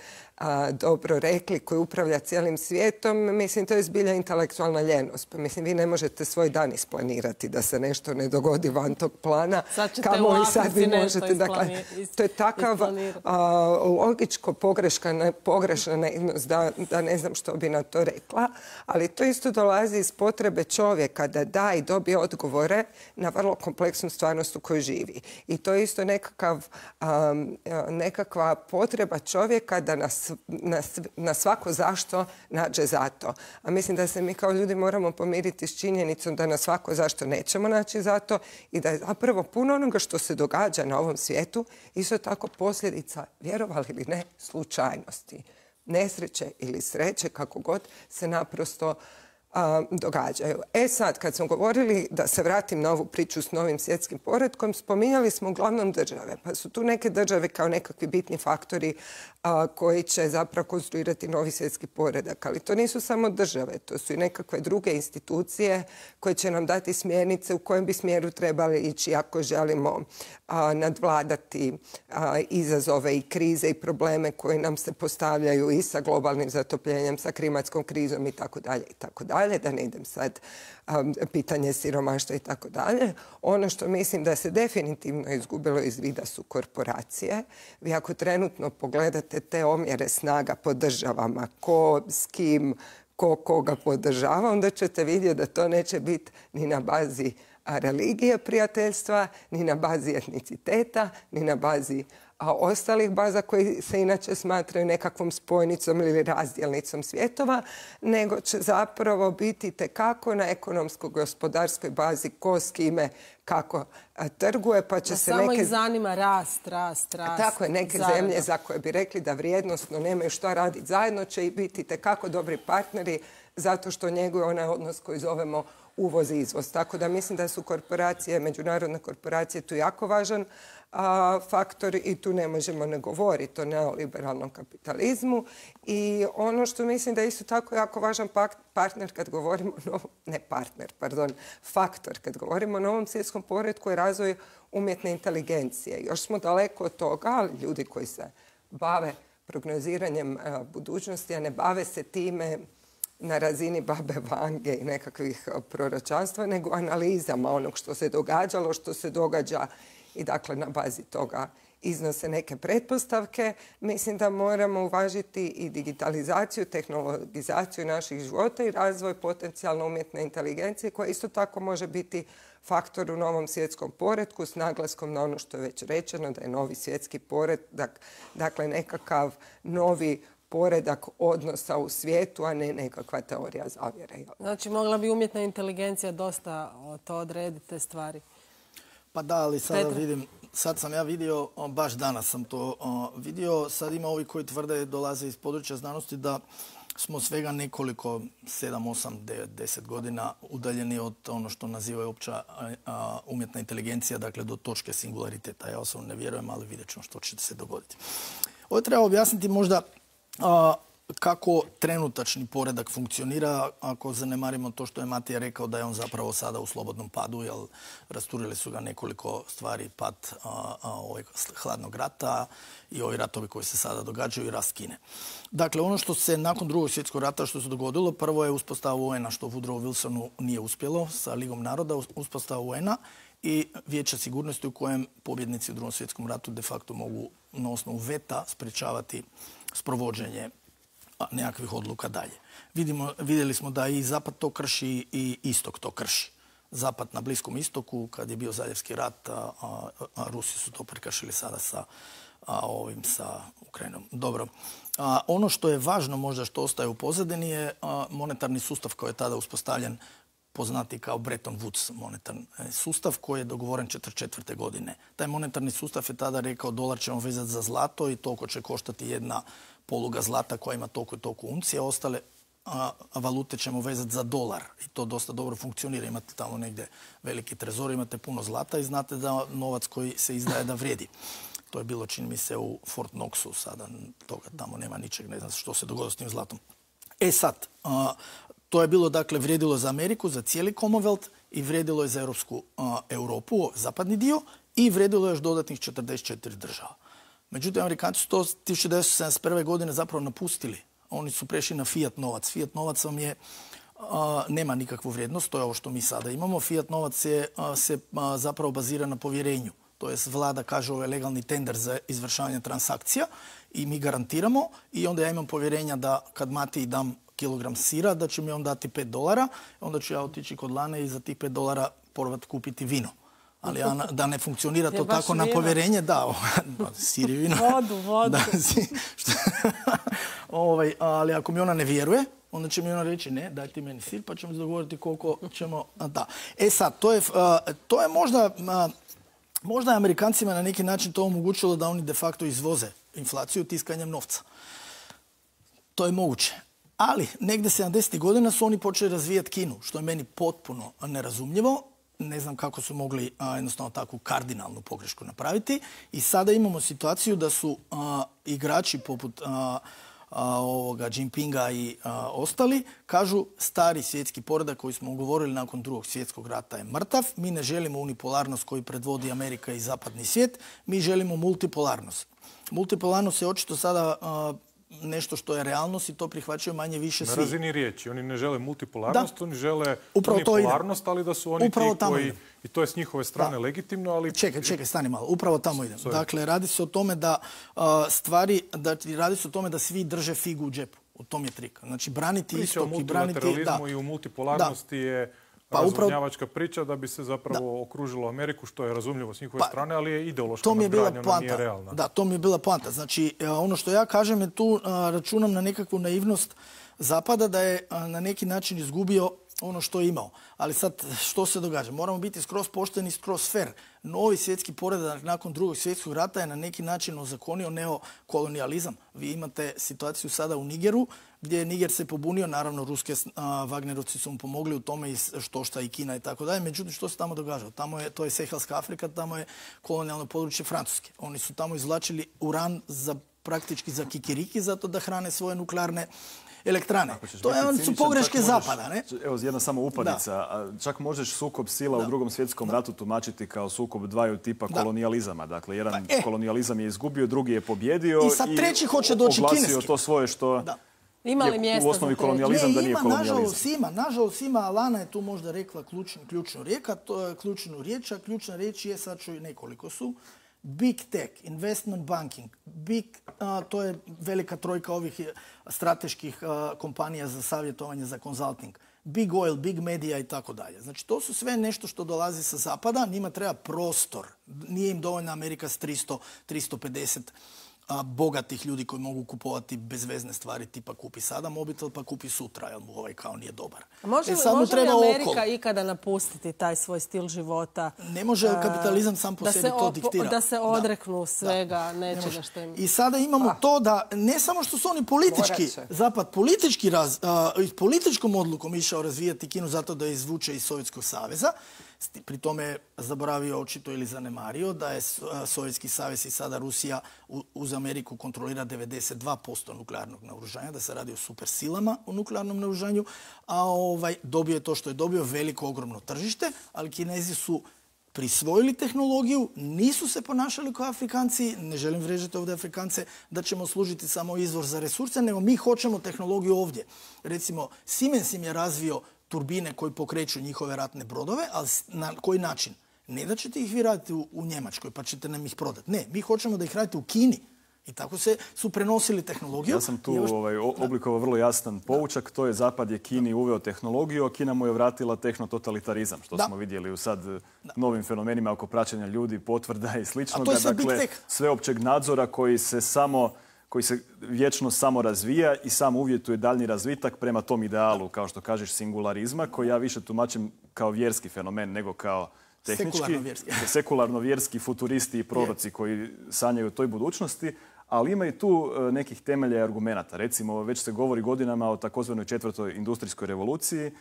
dobro rekli, koji upravlja cijelim svijetom. Mislim, to je zbilja intelektualna ljenost. Pa mislim, vi ne možete svoj dan isplanirati da se nešto ne dogodi van tog plana. Kamo i sad vi možete. Dakle, to je takav logičko pogrešna neiznost da ne znam što bi na to rekla. Ali to isto dolazi iz potrebe čovjeka da da i dobije odgovore na vrlo kompleksnu stvarnost u kojoj živi. I to je isto nekakva potreba čovjeka da na svako zašto nađe zato. A mislim da se mi kao ljudi moramo pomiriti s činjenicom da na svako zašto nećemo naći zato i da je zapravo puno onoga što se događa na ovom svijetu isto tako posljedica, vjerovali ili ne, slučajnosti. Nesreće ili sreće, kako god se naprosto događaju. Sad, kad smo govorili, da se vratim na ovu priču s novim svjetskim poretkom, spominjali smo uglavnom države. Pa su tu neke države kao nekakvi bitni faktori koji će zapravo konstruirati novi svjetski poredak. Ali to nisu samo države, to su i nekakve druge institucije koje će nam dati smjernice u kojem bi smjeru trebali ići ako želimo nadvladati izazove i krize i probleme koje nam se postavljaju i sa globalnim zatopljenjem, sa klimatskom krizom i tako dalje i tako dalje. Da ne idem sad pitanje siromaštva i tako dalje. Ono što mislim da se definitivno izgubilo iz vida su korporacije. Vi ako trenutno pogledate te omjere snaga po državama, ko s kim, koga podržava, onda ćete vidjeti da to neće biti ni na bazi religije prijateljstva, ni na bazi etniciteta, ni na bazi ostalih baza koji se inače smatraju nekakvom spojnicom ili razdjelnicom svjetova, nego će zapravo biti tekako na ekonomsko-gospodarskoj bazi ko s kime kako trguje, pa će se samo ih zanima rast. Tako je, neke zemlje za koje bi rekli da vrijednosno nemaju što raditi zajedno će i biti tekako dobri partneri zato što njeguje onaj odnos koji zovemo uvoz i izvoz. Tako da mislim da su korporacije, međunarodne korporacije tu jako važan faktor i tu ne možemo ne govoriti o neoliberalnom kapitalizmu. I ono što mislim da je isto tako jako važan faktor kad govorimo o novom svjetskom poretku je razvoj umjetne inteligencije. Još smo daleko od toga, ali ljudi koji se bave prognoziranjem budućnosti, a ne bave se time na razini babe Vange i nekakvih proročanstva, nego analizama onog što se događalo, što se događa i dakle na bazi toga iznose neke pretpostavke. Mislim da moramo uvažiti i digitalizaciju, tehnologizaciju naših života i razvoj potencijalno umjetne inteligencije koja isto tako može biti faktor u novom svjetskom poretku s naglaskom na ono što je već rečeno da je novi svjetski poredak, dakle nekakav novi poredak odnosa u svijetu, a ne nekakva teorija zavjere. Znači, mogla bi umjetna inteligencija dosta to odrediti te stvari? Pa da, ali sada vidim, sad sam ja vidio, baš danas sam to vidio, sad ima ovi koji tvrde dolaze iz područja znanosti da smo svega nekoliko, 7, 8, 9, 10 godina udaljeni od ono što nazivaju opća umjetna inteligencija, dakle do točke singulariteta. Ja osobno ne vjerujem, ali vidjet ćemo što će se dogoditi. Ovo treba objasniti možda kako trenutačni poredak funkcionira ako zanemarimo to što je Matija rekao da je on zapravo sada u slobodnom padu, jer rasturili su ga nekoliko stvari, pad hladnog rata i ovi ratovi koji se sada događaju i rast Kine. Dakle, ono što se nakon Drugog svjetskog rata što se dogodilo, prvo je uspostava UN-a što Woodrow Wilsonu nije uspjelo sa Ligom naroda, uspostava UN-a i Vijeća sigurnosti u kojem pobjednici u Drugom svjetskom ratu de facto mogu na osnovu veta sprečavati sprovođenje nekakvih odluka dalje. Vidjeli smo da i Zapad to krši i Istok to krši. Zapad na Bliskom istoku, kad je bio Zaljevski rat, a Rusi su to prekršili sada sa Ukrajinom. Dobro. Ono što je važno možda što ostaje u pozadini je monetarni sustav koji je tada uspostavljen, poznati kao Bretton Woods monetarni sustav koji je dogovoren 1944. godine. Taj monetarni sustav je tada rekao dolar ćemo vezati za zlato i toliko će koštati jedna poluga zlata koja ima toliko i toliko uncija, ostale valute ćemo vezati za dolar i to dosta dobro funkcionira. Imate tamo negdje veliki trezor, imate puno zlata i znate da novac koji se izdaje da vrijedi. To je bilo, čini mi se, u Fort Knoxu, sada toga tamo nema ničeg, ne znam što se dogodilo s tim zlatom. Sad, to je bilo, dakle, vrijedilo za Ameriku, za cijeli Commonwealth i vrijedilo je za Europu, zapadni dio, i vrijedilo je još dodatnih 44 država. Međutim, Amerikanci su to 1971. godine zapravo napustili. Oni su prešli na fiat novac. Fiat novac vam je, nema nikakvu vrijednost, to je ovo što mi sada imamo. Fiat novac se zapravo bazira na povjerenju. To jest vlada kaže ovo je legalni tender za izvršavanje transakcija i mi garantiramo i onda ja imam povjerenja da kad Mati dam kilogram sira da će mi on dati $5, onda ću ja otići kod Lane i za tih $5 probati kupiti vino. Ali da ne funkcionira to tako na povjerenje, da, sir i vino. Vodu. Ali ako mi ona ne vjeruje, onda će mi ona reći ne, daj ti meni sir pa ćemo se dogovoriti koliko ćemo... Da. Sad, to je možda je Amerikancima na neki način to omogućilo da oni de facto izvoze inflaciju tiskanjem novca. To je moguće. Ali negdje 70. godina su oni počeli razvijati Kinu, što je meni potpuno nerazumljivo. Ne znam kako su mogli jednostavno takvu kardinalnu pogrešku napraviti. I sada imamo situaciju da su igrači poput Jinpinga i ostali kažu stari svjetski poredak koji smo ugovorili nakon Drugog svjetskog rata je mrtav. Mi ne želimo unipolarnost koju predvodi Amerika i zapadni svijet. Mi želimo multipolarnost. Multipolarnost je očito sada nešto što je realnost i to prihvaćaju manje više svi. Na razini riječi. Oni ne žele multipolarnost, oni žele unipolarnost, ali da su oni ti koji... I to je s njihove strane legitimno, ali... Čekaj, stani malo. Upravo tamo idem. Dakle, radi se o tome da svi drže figu u džepu. U tom je trik. Znači, braniti istok i braniti... Priča o multilateralizmu i u multipolarnosti je razvodnjavačka priča da bi se zapravo okružilo Ameriku, što je razumljivo s njihove strane, ali je ideološka nadgradnja, nije realna. Da, to mi je bila poanta. Znači, ono što ja kažem je tu računam na nekakvu naivnost Zapada da je na neki način izgubio ono što je imao. Ali sad, što se događa? Moramo biti skroz pošteni, skroz fair. Novi svjetski poredak nakon Drugog svjetskog rata je na neki način ozakonio neokolonijalizam. Vi imate situaciju sada u Nigeru, gdje je Niger se pobunio, naravno ruske Wagnerovci su mu pomogli u tome i šta i Kina i tako dalje. Međutim, što se tamo događalo? To je Sehelska Afrika, tamo je kolonijalno područje Francuske. Oni su tamo izvlačili uran praktički za kikiriki, zato da hrane svoje nuklearne elektrane. Oni su pogreške Zapada, ne? Evo, jedna samo upadica. Čak možeš sukob sila u Drugom svjetskom ratu tumačiti kao sukob dvaju tipa kolonijalizama. Dakle, jedan kolonijalizam je izgubio, drugi je pobjedio i oglasio to svoje što ima li mjesta u osnovi kolonijalizam da nije kolonijalizam. Nažalost ima, Alana je tu možda rekla ključnu riječ, a ključna riječ je, sad ću nekoliko su, Big Tech, Investment Banking, to je velika trojka ovih strateških kompanija za savjetovanje, za consulting, Big Oil, Big Media i tako dalje. Znači, to su sve nešto što dolazi sa zapada, njima treba prostor. Nije im dovoljna Amerika s 350 bogatih ljudi koji mogu kupovati bezvezne stvari, tipa kupi sada mobitel pa kupi sutra, jer mu ovaj kao nije dobar. Može li Amerika ikada napustiti taj svoj stil života? Ne može, kapitalizam sam po sebi to diktira. Da se odreknu svega nečega što im... I sada imamo to da ne samo što su oni politički, Zapad političkom odlukom išao razvijati Kinu zato da je izvuče iz Sovjetskog saveza, pri tome je zaboravio očito ili zanemario da je Sovjetski savez i sada Rusija uz Ameriku kontrolira 92% nuklearnog naoružanja, da se radi o supersilama u nuklearnom naoružanju, a dobio je to što je dobio, veliko, ogromno tržište, ali Kinezi su prisvojili tehnologiju, nisu se ponašali kao Afrikanci, ne želim vređati ovdje Afrikance, da ćemo služiti samo izvor za resurse, nego mi hoćemo tehnologiju ovdje. Recimo, Siemens im je razvio turbine koji pokreću njihove ratne brodove, ali na koji način? Ne da ćete ih vi raditi u Njemačkoj pa ćete nam ih prodati. Ne, mi hoćemo da ih radite u Kini. I tako su prenosili tehnologiju. Ja sam tu oblikovao vrlo jasan poučak. To je Zapad je Kini uveo tehnologiju, a Kina mu je vratila tehnototalitarizam, što smo vidjeli u sad novim fenomenima oko praćenja ljudi, potvrda i slično. Dakle, sveopćeg nadzora koji se vječno samo razvija i sam uvjetuje daljnji razvitak prema tom idealu, kao što kažeš, singularizma, koji ja više tumačim kao vjerski fenomen nego kao tehnički. Sekularno-vjerski futuristi i proroci koji sanjaju o toj budućnosti, ali ima i tu nekih temelja i argumenata. Recimo, već se govori godinama o takozvanoj 4. industrijskoj revoluciji,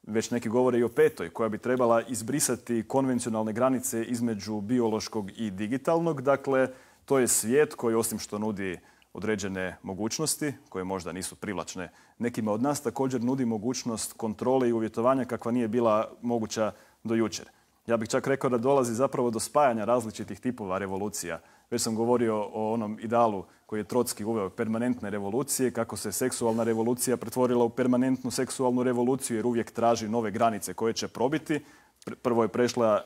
već neki govore i o 5. koja bi trebala izbrisati konvencionalne granice između biološkog i digitalnog. Dakle, to je svijet koji, osim što nudi određene mogućnosti, koje možda nisu privlačne nekima od nas, također nudi mogućnost kontrole i uvjetovanja kakva nije bila moguća do jučer. Ja bih čak rekao da dolazi zapravo do spajanja različitih tipova revolucija. Već sam govorio o onom idealu koji je Trotski uveo, permanentne revolucije, kako se seksualna revolucija pretvorila u permanentnu seksualnu revoluciju jer uvijek traži nove granice koje će probiti. Prvo je prešla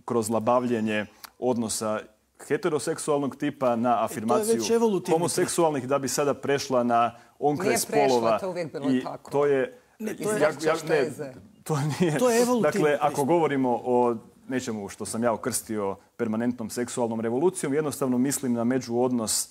kroz labavljenje odnosa heteroseksualnog tipa na afirmaciju homoseksualnih, da bi sada prešla na onkraj spolova. Nije prešla, to uvijek bilo tako. To je... To je evolutivno. Dakle, ako govorimo o nečemu što sam ja okrstio permanentnom seksualnom revolucijom, jednostavno mislim na međuodnos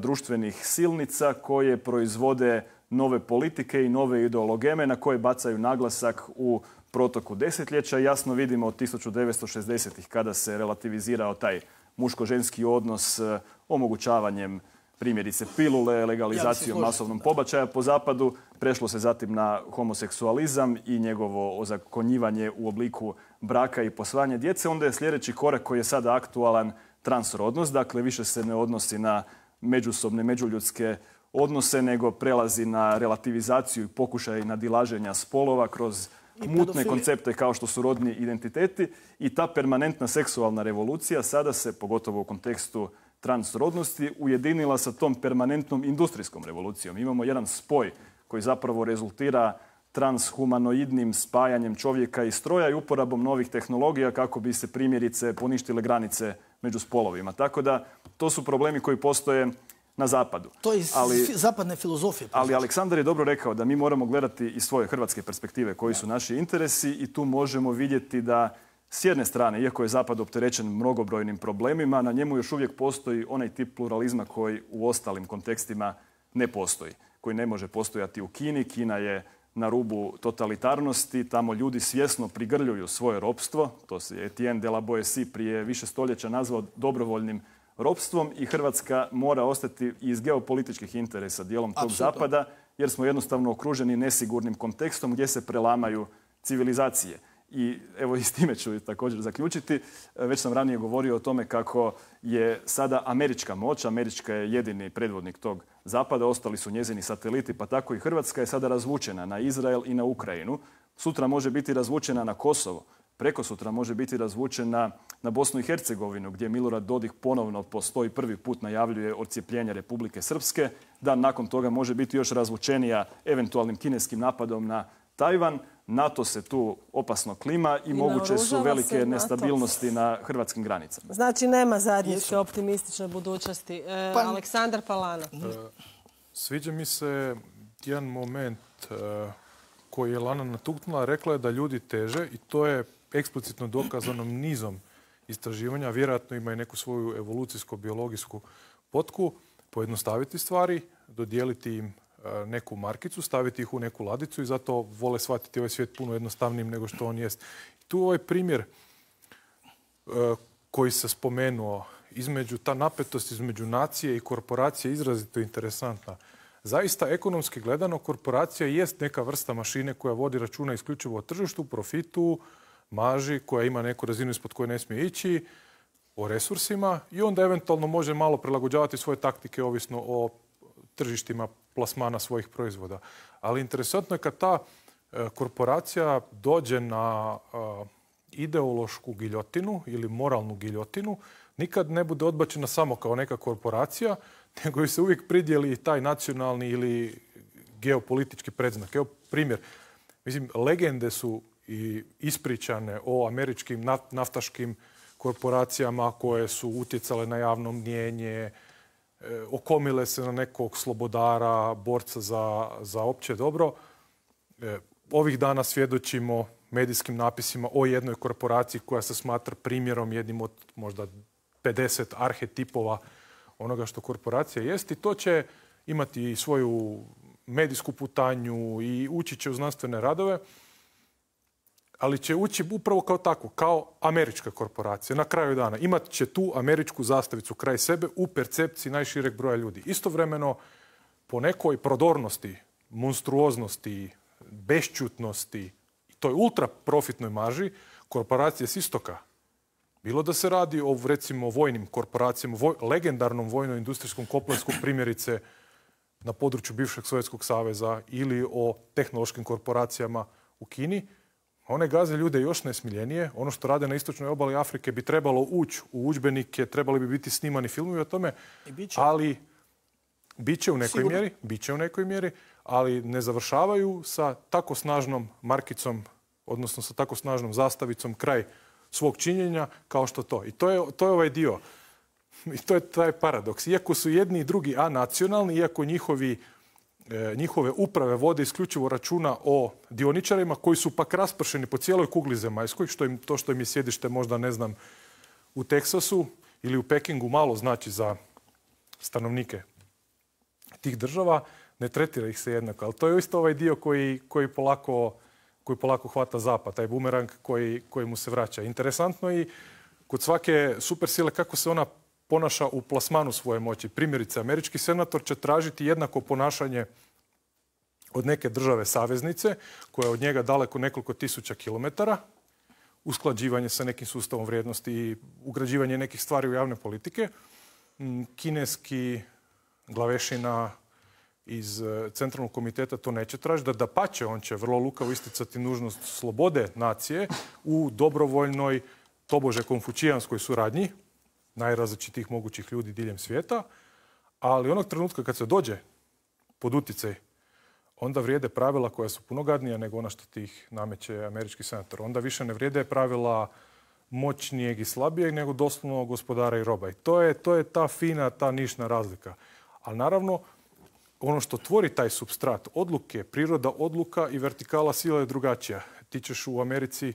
društvenih silnica koje proizvode nove politike i nove ideologeme na koje bacaju naglasak u protoku desetljeća. Jasno vidimo od 1960-ih kada se relativizirao taj muško-ženski odnos omogućavanjem primjerice pilule, legalizacijom masovnog pobačaja po zapadu. Prešlo se zatim na homoseksualizam i njegovo ozakonjivanje u obliku braka i posvajanja djece. Onda je sljedeći korak koji je sada aktualan transrodnost. Dakle, više se ne odnosi na međusobne, međuljudske odnose, nego prelazi na relativizaciju i pokušaj nadilaženja spolova kroz mutne koncepte kao što su rodni identiteti. I ta permanentna seksualna revolucija sada se, pogotovo u kontekstu transrodnosti, ujedinila sa tom permanentnom industrijskom revolucijom. Imamo jedan spoj koji zapravo rezultira transhumanoidnim spajanjem čovjeka i stroja i uporabom novih tehnologija kako bi se primjerice poništile granice među spolovima. Tako da to su problemi koji postoje na zapadu. To je zapadne filozofije. Ali Aleksandar je dobro rekao da mi moramo gledati iz svoje hrvatske perspektive koji su naši interesi i tu možemo vidjeti da s jedne strane, iako je Zapad opterećen mnogobrojnim problemima, na njemu još uvijek postoji onaj tip pluralizma koji u ostalim kontekstima ne postoji, koji ne može postojati u Kini. Kina je na rubu totalitarnosti, tamo ljudi svjesno prigrljuju svoje ropstvo. To se Etienne de la Boétie prije više stoljeća nazvao dobrovoljnim ropstvom i Hrvatska mora ostati iz geopolitičkih interesa dijelom tog Zapada, jer smo jednostavno okruženi nesigurnim kontekstom gdje se prelamaju civilizacije. I evo i s time ću također zaključiti. Već sam ranije govorio o tome kako je sada američka moć. Američka je jedini predvodnik tog Zapada. Ostali su njezini sateliti, pa tako i Hrvatska je sada razvučena na Izrael i na Ukrajinu. Sutra može biti razvučena na Kosovo. Prekosutra može biti razvučena na Bosnu i Hercegovinu, gdje Milorad Dodik ponovno po 101. put najavljuje odcijepljenje Republike Srpske. Dan nakon toga može biti još razvučenija eventualnim kineskim napadom na Tajvan. NATO se tu opasno klima i moguće su velike nestabilnosti na hrvatskim granicama. Znači nema zajedničke optimistične budućnosti. Aleksandar Palana. Sviđa mi se jedan moment koji je Lana natuknula. Rekla je da ljudi teže i to je eksplicitno dokazano nizom istraživanja. Vjerojatno ima i neku svoju evolucijsko-biologijsku potku. Pojednostaviti stvari, dodijeliti im neku markicu, staviti ih u neku ladicu i zato vole shvatiti ovaj svijet puno jednostavnijim nego što on jest. Tu ovaj primjer koji se spomenuo, ta napetost između nacije i korporacije je izrazito interesantna. Zaista, ekonomski gledano, korporacija jest neka vrsta mašine koja vodi računa isključivo o tržištu, profitu, marži, koja ima neku razinu ispod koje ne smije ići, o resursima i onda eventualno može malo prilagođavati svoje taktike ovisno o tržištima plasmana svojih proizvoda. Ali interesantno je kad ta korporacija dođe na ideološku giljotinu ili moralnu giljotinu, nikad ne bude odbačena samo kao neka korporacija, nego se uvijek pridjeli taj nacionalni ili geopolitički predznak. Evo primjer. Mislim, legende su i ispričane o američkim naftaškim korporacijama koje su utjecale na javno mnijenje, okomile se na nekog slobodara, borca za opće dobro. Ovih dana svjedočimo medijskim napisima o jednoj korporaciji koja se smatra primjerom, jednim od možda 50 arhetipova onoga što korporacija jest, i to će imati i svoju medijsku putanju i ući će u znanstvene radove, ali će ući upravo kao tako, kao američka korporacija. Na kraju dana imat će tu američku zastavicu kraj sebe u percepciji najšireg broja ljudi. Istovremeno, po nekoj prodornosti, monstruoznosti, bešćutnosti i toj ultra profitnoj marži, korporacije s istoka, bilo da se radi o, recimo, vojnim korporacijama, legendarnom vojno-industrijskom kompleksu, primjerice na području bivšeg Sovjetskog saveza, ili o tehnološkim korporacijama u Kini, one gaze ljude još nesmiljenije. Ono što rade na istočnoj obali Afrike bi trebalo ući u udžbenike, trebali bi biti snimani filmovi o tome, ali bit će u nekoj mjeri, ali ne završavaju sa tako snažnom markicom, odnosno sa tako snažnom zastavicom kraj svog činjenja kao što to. I to je ovaj dio. I to je taj paradoks. Iako su jedni i drugi anacionalni, iako njihove uprave vode isključivo računa o dioničarima koji su pak raspršeni po cijeloj kugli zemaljskoj, što im je sjedište možda, ne znam, u Teksasu ili u Pekingu malo znači za stanovnike tih država, ne tretira ih se jednako. Ali to je isto ovaj dio koji polako hvata zapad, taj bumerang koji mu se vraća. Interesantno i kod svake supersile kako se ona ponaša u plasmanu svoje moći. Primjerice, američki senator će tražiti jednako ponašanje od neke države saveznice, koja je od njega daleko nekoliko tisuća kilometara, usklađivanje sa nekim sustavom vrijednosti i ugrađivanje nekih stvari u javne politike. Kineski glavešina iz Centralnog komiteta to neće tražiti. Dapače, on će vrlo lukavo isticati nužnost slobode nacije u dobrovoljnoj, tobože konfučijanskoj suradnji najrazličitijih mogućih ljudi diljem svijeta, ali onog trenutka kad se dođe pod utjecaj, onda vrijede pravila koja su puno gadnija nego ona što tih nameće američki senator. Onda više ne vrijede pravila moćnijeg i slabijeg, nego doslovno gospodara i roba. I to je ta fina, ta nišna razlika. Ali naravno, ono što tvori taj supstrat odluke, priroda odluka i vertikala sila je drugačija. Ti ćeš u Americi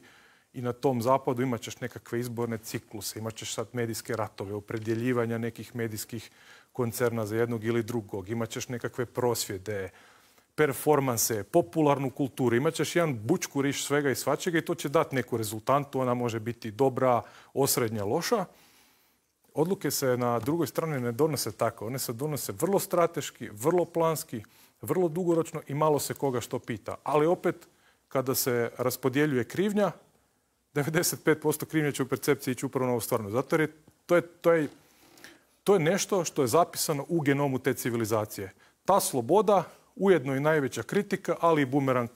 i na tom zapadu imat ćeš nekakve izborne cikluse, imat ćeš sad medijske ratove, opredjeljivanja nekih medijskih koncerna za jednog ili drugog, imat ćeš nekakve prosvjede, performanse, popularnu kulturu, imat ćeš jedan bućkuriš svega i svačega i to će dati neku rezultantu, ona može biti dobra, osrednja, loša. Odluke se na drugoj strani ne donose tako, one se donose vrlo strateški, vrlo planski, vrlo dugoročno i malo se koga što pita. Ali opet, kada se raspodjeljuje krivnja, 95% krivnje će u percepciji ići upravo na ovu stvarnost. Zato jer to je nešto što je zapisano u genomu te civilizacije. Ta sloboda, ujedno i najveća kritika, ali i bumerang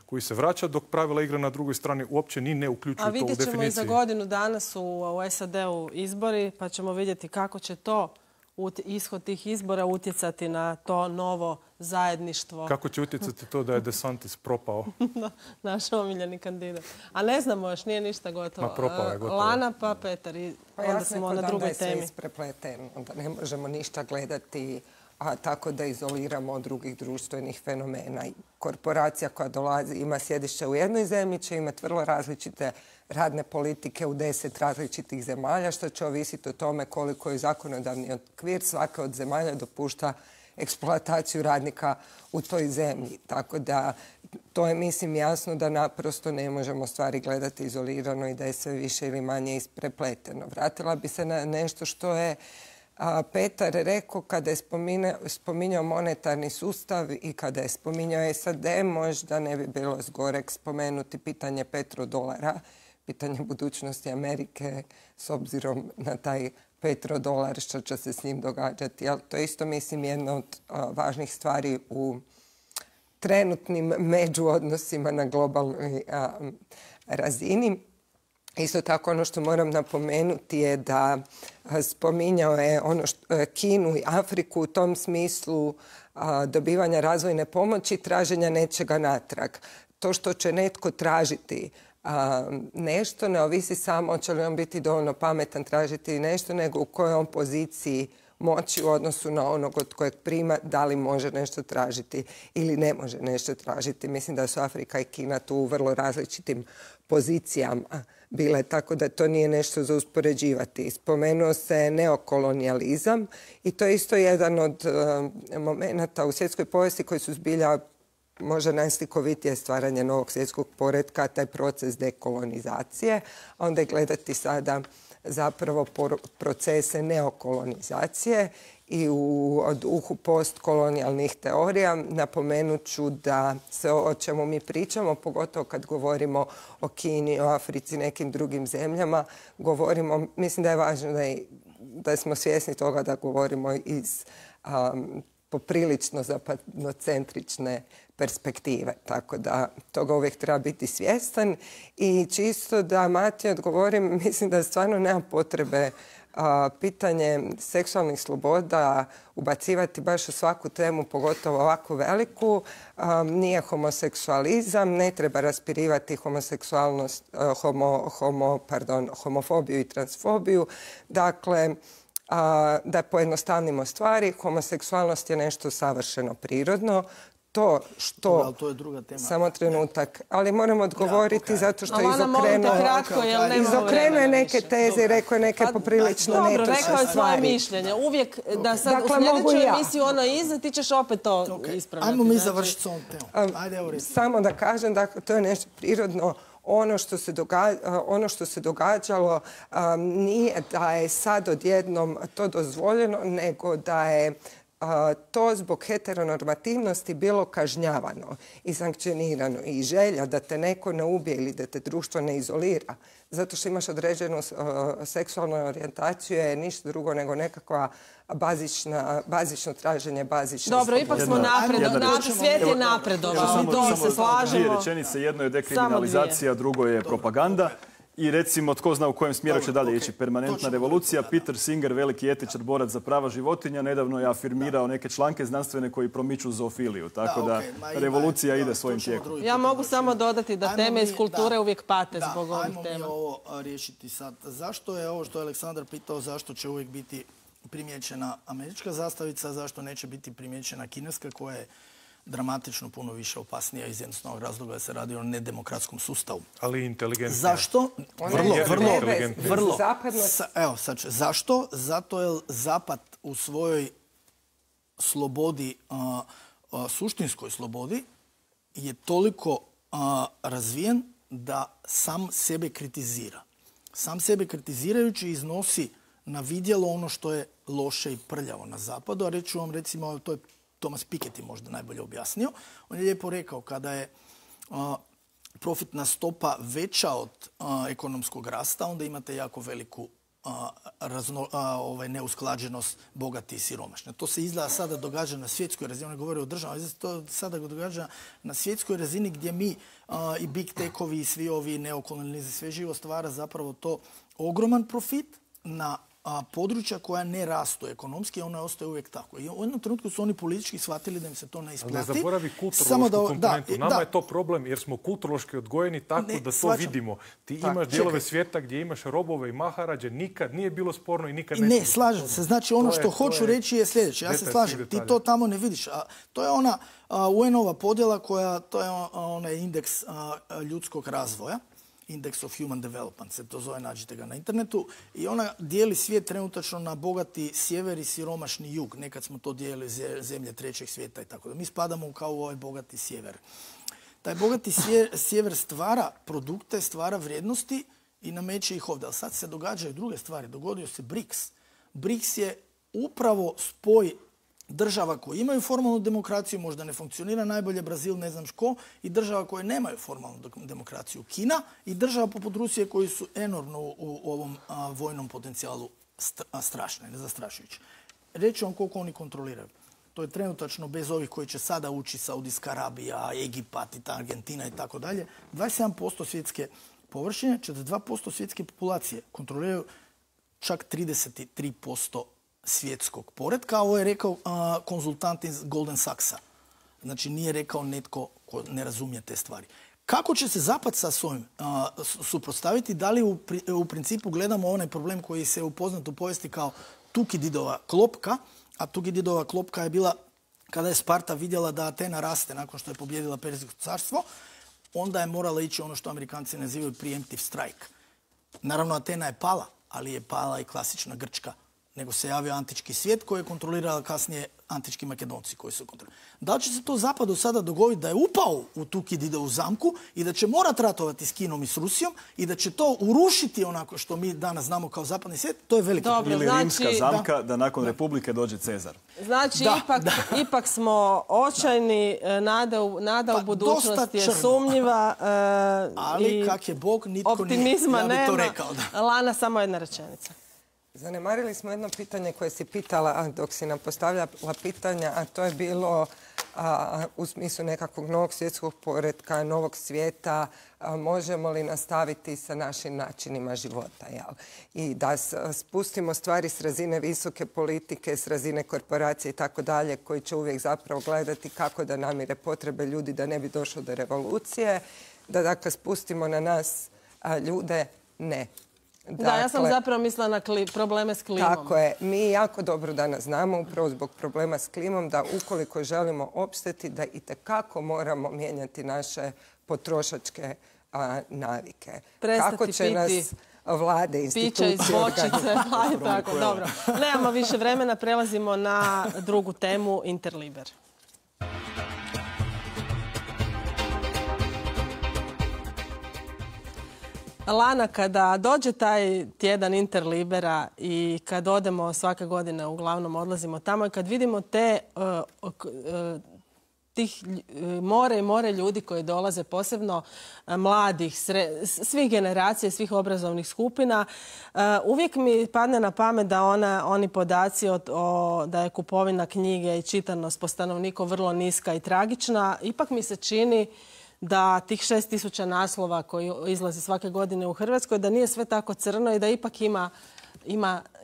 koji se vraća, dok pravila igre na drugoj strani uopće ni ne uključuju to u definiciji. A vidjet ćemo i za godinu danas u SAD-u izbori, pa ćemo vidjeti kako će to ishod tih izbora utjecati na to novo zajedništvo. Kako će utjecati to da je DeSantis propao? Naš omiljeni kandidat. A ne znamo još, nije ništa gotovo. Ma propao je gotovo. Lana pa Petar. I onda smo na drugoj temi. Da je sve isprepleteno, da ne možemo ništa gledati, a tako da izoliramo od drugih društvenih fenomena. Korporacija koja dolazi, ima sjedište u jednoj zemlji, će imati vrlo različite radne politike u 10 različitih zemalja, što će ovisiti o tome koliko je zakonodavni okvir svaka od zemalja dopušta eksploataciju radnika u toj zemlji. Tako da to je, mislim, jasno da naprosto ne možemo stvari gledati izolirano i da je sve više ili manje isprepleteno. Vratila bi se na nešto što je Petar rekao kada je spominjao monetarni sustav i kada je spominjao SAD, možda ne bi bilo zgorek spomenuti pitanje petrodolara, pitanje budućnosti Amerike s obzirom na taj petrodolar, što će se s njim događati. To je isto, mislim, jedna od važnih stvari u trenutnim međuodnosima na globalnoj razini. Isto tako ono što moram napomenuti je da spominjao je Kinu i Afriku u tom smislu dobivanja razvojne pomoći, traženja nečega natrag. To što će netko tražiti nešto, ne ovisi samo hoće li on biti dovoljno pametan tražiti nešto, nego u kojoj on poziciji moći u odnosu na onog od kojeg prima, da li može nešto tražiti ili ne može nešto tražiti. Mislim da su Afrika i Kina tu u vrlo različitim pozicijama bile, tako da to nije nešto za uspoređivati. Spomenuo se neokolonijalizam i to je isto jedan od momenata u svjetskoj povijesti koji su zbilja možda najslikovitije stvaranje novog svjetskog poretka, taj proces dekolonizacije, a onda je gledati sada zapravo procese neokolonizacije i u duhu postkolonijalnih teorija napomenut ću da se o čemu mi pričamo, pogotovo kad govorimo o Kini, o Africi, nekim drugim zemljama, govorimo, mislim da je važno da smo svjesni toga da govorimo iz poprilično zapadnocentrične perspektive. Tako da toga uvijek treba biti svjestan. I čisto da Mati odgovorim, mislim da stvarno nema potrebe pitanje seksualnih sloboda ubacivati baš u svaku temu, pogotovo ovako veliku. Nije homoseksualizam, ne treba raspirivati homoseksualnost, homofobiju i transfobiju. Dakle, da pojednostavnimo stvari, homoseksualnost je nešto savršeno prirodno. To što... To je druga tema. Samo trenutak. Ali moram odgovoriti zato što je izokrenuo neke teze i rekao je neke poprilično netočne stvari. Dobro, rekao je svoje mišljenje. Uvijek da sad u sljedećoj emisiji ono iza, ti ćeš opet to ispravljati. Ajmo mi završiti s ovom temom. Ajde, evo reći. Samo da kažem, dakle, to je nešto prirodno. Ono što se događalo nije da je sad odjednom to dozvoljeno, nego da je to zbog heteronormativnosti bilo kažnjavano i sankcionirano i želja da te neko ne ubije ili da te društvo ne izolira zato što imaš određenu seksualnu orijentaciju je ništa drugo nego nekakva bazično traženje bazične slobode. Dobro, ipak smo napredovali. Svijet je napredovao. To se slažemo. Dvije rečenice, jedno je dekriminalizacija, drugo je propaganda. I recimo, tko zna u kojem smjeru će dalje ići permanentna revolucija. Peter Singer, veliki etičar, borac za prava životinja, nedavno je afirmirao neke članke znanstvene koji promiču zoofiliju. Tako da revolucija ide svojim tijekom. Ja mogu samo dodati da teme iz kulture uvijek pate zbog ovih tema. Ajmo mi ovo riješiti sad. Zašto je ovo što je Aleksandar pitao, zašto će uvijek biti primijećena američka zastavica, zašto neće biti primijećena kineska koja je dramatično puno više opasnija iz jednostavnog razloga da se radi o nedemokratskom sustavu. Ali inteligentnija. Zašto? Vrlo. Evo, sad će. Zašto? Zato je Zapad u svojoj slobodi, suštinskoj slobodi, je toliko razvijen da sam sebe kritizira. Sam sebe kritizirajući iznosi na vidjelo ono što je loše i prljavo na Zapadu, a reću vam recimo, to je Thomas Piketty možda najbolje objasnio. On je lijepo rekao kada je profitna stopa veća od ekonomskog rasta, onda imate jako veliku neusklađenost bogati i siromašni. To se izgleda sada događa na svjetskoj razini, on govori o državama, to sada događa na svjetskoj razini gdje mi i big techovi i svi ovi neokolonializmi, sve živo stvara zapravo to ogroman profit na područja koja ne rastu ekonomski, ona ostaje uvijek tako. I u jednom trenutku su oni politički shvatili da im se to ne isplati. Ali ne zaboravi kulturološku komponentu. Nama je to problem jer smo kulturološki odgojeni tako da to vidimo. Ti imaš dijelove svijeta gdje imaš robove i maharađe, nikad nije bilo sporno i nikad neće. Ne, slažem se. Znači ono što hoću reći je sljedeće. Ja se slažem. Ti to tamo ne vidiš. To je ona UN-ova podjela koja, to je onaj indeks ljudskog razvoja. Index of Human Development se to zove, nađite ga na internetu. I ona dijeli svijet trenutačno na bogati sjever i siromašni jug. Nekad smo to dijelili zemlje trećeg svijeta i tako da. Mi spadamo kao u ovaj bogati sjever. Taj bogati sjever stvara produkte, stvara vrijednosti i nameće ih ovdje. Ali sad se događaju druge stvari. Dogodio se BRICS. BRICS je upravo spoj država koje imaju formalnu demokraciju, možda ne funkcionira najbolje, Brazil, ne znam ško, i država koje nemaju formalnu demokraciju, Kina, i država poput Rusije koji su enormno u ovom vojnom potencijalu strašne, nezastrašujuće. Reći vam koliko oni kontroliraju. To je trenutačno bez ovih koji će sada ući Saudijska Arabija, Egipat, Argentina i tako dalje. 27% svjetske površine, 42% svjetske populacije kontroliraju čak 33% svjetskog poretka. Ovo je rekao konzultant iz Golden Sachsa. Znači nije rekao netko ko ne razumije te stvari. Kako će se Zapad sa svojim suprotstaviti? Da li u principu gledamo onaj problem koji se upoznat u povijesti kao Tukididova klopka, a Tukididova klopka je bila kada je Sparta vidjela da Atena raste nakon što je pobjedila Perzijsko carstvo, onda je morala ići ono što Amerikanci nazivaju preemptive strike. Naravno, Atena je pala, ali je pala i klasična Grčka, nego se javio antički svijet koji je kontrolirala kasnije antički Makedonci koji su kontrolirali. Da li će se to Zapadu sada dogoditi da je upao u Tukididovu zamku i da će morati ratovati s Kinom i s Rusijom i da će to urušiti onako što mi danas znamo kao zapadni svijet, to je veliki problem. Ili rimska zamka da nakon Republike dođe Cezar. Znači, ipak smo očajni, nada u budućnosti je sumnjiva. Ali kak je Bog, nitko nije. Optimizma nema. Ja bi to rekao, da. Lana, samo jedna rečenica. Zanemarili smo jedno pitanje koje si pitala dok si nam postavljala pitanja, a to je bilo u smislu nekakvog novog svjetskog poretka, novog svijeta, možemo li nastaviti sa našim načinima života. Jel? I da spustimo stvari s razine visoke politike, s razine korporacije i tako dalje, koji će uvijek zapravo gledati kako da namire potrebe ljudi da ne bi došlo do revolucije, da dakle spustimo na nas ljude, ne. Da, ja sam zapravo mislila na probleme s klimom. Tako je. Mi jako dobro danas znamo, upravo zbog problema s klimom, da ukoliko želimo opstati, da itekako moramo mijenjati naše potrošačke navike. Kako će nas vlade, institucije... Pića iz bočice. Tako, dobro. Nemamo više vremena, prelazimo na drugu temu, Interliber. Lana, kada dođe taj tjedan Interlibera i kad odemo svake godine, uglavnom odlazimo tamo i kad vidimo tih more i more ljudi koji dolaze, posebno mladih, svih generacija, svih obrazovnih skupina, uvijek mi padne na pamet da oni podaci da je kupovina knjige i čitanost po stanovniku vrlo niska i tragična, ipak mi se čini da tih 6.000 naslova koji izlazi svake godine u Hrvatskoj, da nije sve tako crno i da ipak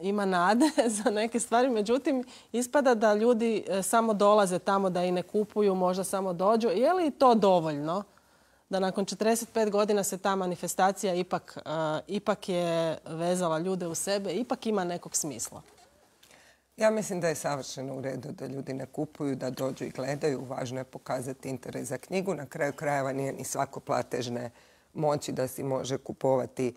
ima nade za neke stvari. Međutim, ispada da ljudi samo dolaze tamo, da i ne kupuju, možda samo dođu. Je li to dovoljno da nakon 45 godina se ta manifestacija ipak je vezala ljude u sebe, ipak ima nekog smisla? Ja mislim da je savršeno u redu da ljudi ne kupuju, da dođu i gledaju. Važno je pokazati interes za knjigu. Na kraju krajeva nije ni svako platežne moći da si može kupovati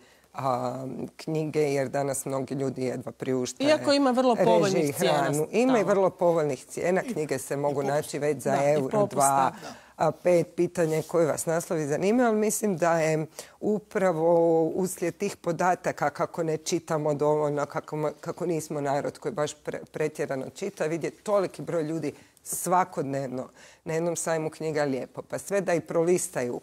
knjige, jer danas mnogi ljudi jedva priuštaju iako ima vrlo povoljnih cijena. Ima i vrlo povoljnih cijena. Knjige se mogu naći već za euro, 2, 5. Pitanje koje vas naslovi zanimaju, ali mislim da je upravo uslijed tih podataka kako ne čitamo dovoljno, kako nismo narod koji baš pretjerano čita, vidjeti toliki broj ljudi svakodnevno na jednom sajmu knjiga lijepo. Pa sve da i prolistaju,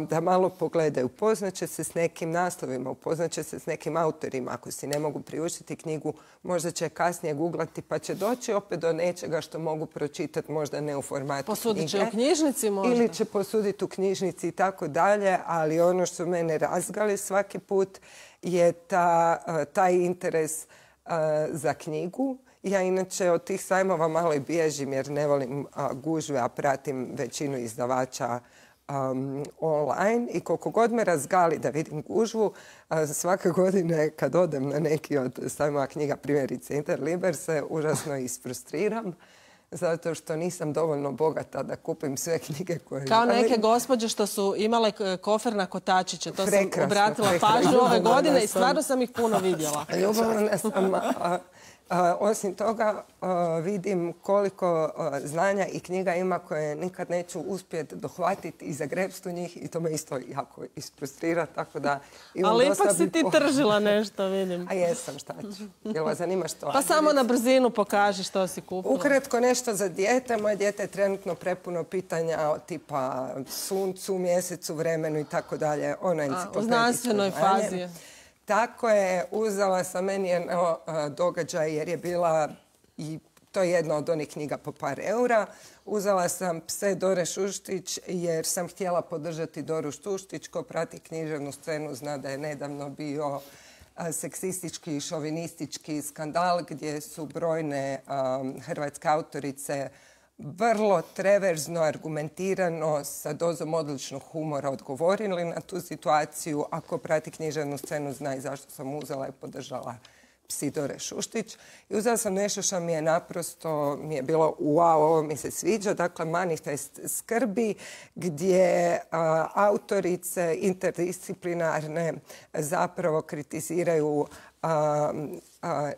da malo pogledaju. Upoznaće se s nekim naslovima, upoznaće se s nekim autorima. Ako si ne mogu priuštiti knjigu, možda će kasnije googlati pa će doći opet do nečega što mogu pročitati, možda ne u formatu posudit će u knjižnici možda. Ili će posuditi u knjižnici i tako dalje, ali ono što mene razgali svaki put je taj interes za knjigu. Ja inače od tih sajmova malo i bježim jer ne volim gužve, a pratim većinu izdavača online i koliko god me razgali da vidim gužvu, svake godine kad odem na neki od sajmova knjiga, primjerice Interliber, se užasno isfrustriram zato što nisam dovoljno bogata da kupim sve knjige koje kao neke gospođe što su imale kofer na kotačiće. To sam obratila pažnju ove godine i stvarno sam ih puno vidjela. Ljubavna sam. Osim toga, vidim koliko znanja i knjiga ima koje nikad neću uspjeti dohvatiti i zagrepsti u njih i to me isto jako isfrustrira, tako da... Ali ipak si ti tržila nešto, vidim. A jesam, šta ću. Jel vas zanima što? Pa samo na brzinu pokaži što si kupila. Ukratko nešto za dijete. Moje dijete je trenutno prepuno pitanja tipa suncu, mjesecu, vremenu i tako dalje. U znanstvenoj fazi. Tako je, uzela sam meni jedno događaj jer je bila, i to je jedna od onih knjiga po par eura, uzela sam Pse Dore Šuštić jer sam htjela podržati Doru Šuštić. Ko prati književnu scenu zna da je nedavno bio seksistički i šovinistički skandal gdje su brojne hrvatske autorice vrlo treverzno, argumentirano, sa dozom odličnog humora odgovorili na tu situaciju. Ako prati književnu scenu, zna i zašto sam uzela i podržala Psidore Šuštić. I uzela sam nešto što mi je naprosto, mi je bilo wow, ovo mi se sviđa. Dakle, manifest skrbi gdje autorice interdisciplinarne zapravo kritiziraju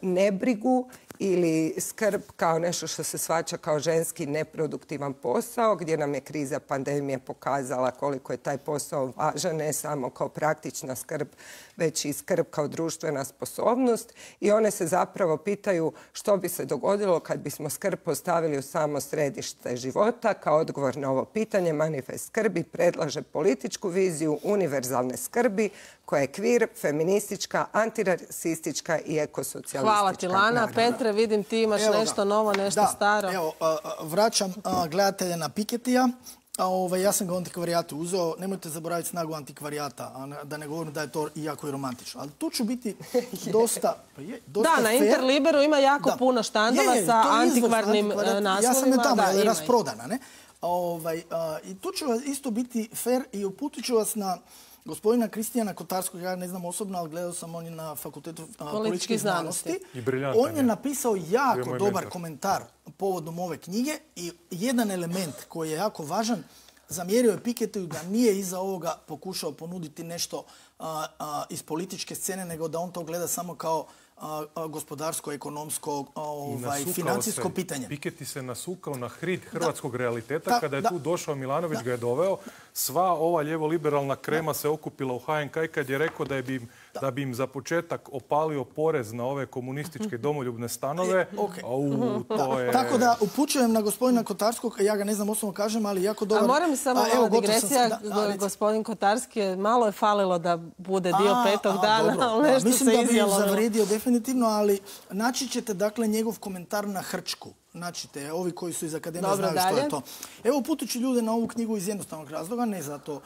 nebrigu ili skrb kao nešto što se shvaća kao ženski neproduktivan posao, gdje nam je kriza pandemije pokazala koliko je taj posao važan, ne samo kao praktična skrb, već i skrb kao društvena sposobnost. I one se zapravo pitaju što bi se dogodilo kad bismo skrb postavili u samo središte života. Kao odgovor na ovo pitanje, manifest skrbi predlaže političku viziju univerzalne skrbi koja je kvir, feministička, antirasistička i ekosocijalistička. Hvala ti, Lana. Petre, vidim ti imaš nešto novo, nešto staro. Evo, vraćam gledatelja na Pikettyja. Ja sam ga u antikvarijatu uzeo. Nemojte zaboraviti snagu antikvarijata, da ne govorim da je to jako i romantično. Ali tu ću biti dosta da, na Interliberu ima jako puno štandova sa antikvarnim naslovima. Ja sam je tamo, ali je rasprodana. I tu ću isto biti fair i uputit ću vas na gospodina Kristijana Kotarskog, ja ne znam osobno, ali gledao sam, on je na Fakultetu političkih znanosti. On je napisao jako dobar komentar povodom ove knjige i jedan element koji je jako važan, zamjerio je Pikettyju da nije iza ovoga pokušao ponuditi nešto iz političke scene, nego da on to gleda samo kao gospodarsko, ekonomsko, financijsko pitanje. Piketty se nasukao na hrid hrvatskog realiteta. Kada je tu došao, Milanović ga je doveo. Sva ova lijevo-liberalna krema se okupila u HNK i kad je rekao da bi im za početak opalio porez na ove komunističke domoljubne stanove. Tako da upućujem na gospodina Kotarskog, ja ga ne znam osobno kažem, ali jako dobar. A moram samo malo digresija, gospodin Kotarski malo je falilo da bude dio petog dana, ali nešto se izjelo. Mislim da bi zavredio definitivno, ali naći ćete dakle njegov komentar na Hrčku. Naćite, ovi koji su iz akademije znaju što je to. Evo, uputit ću ljude na ovu knjigu iz jednostavnog razloga, ne zato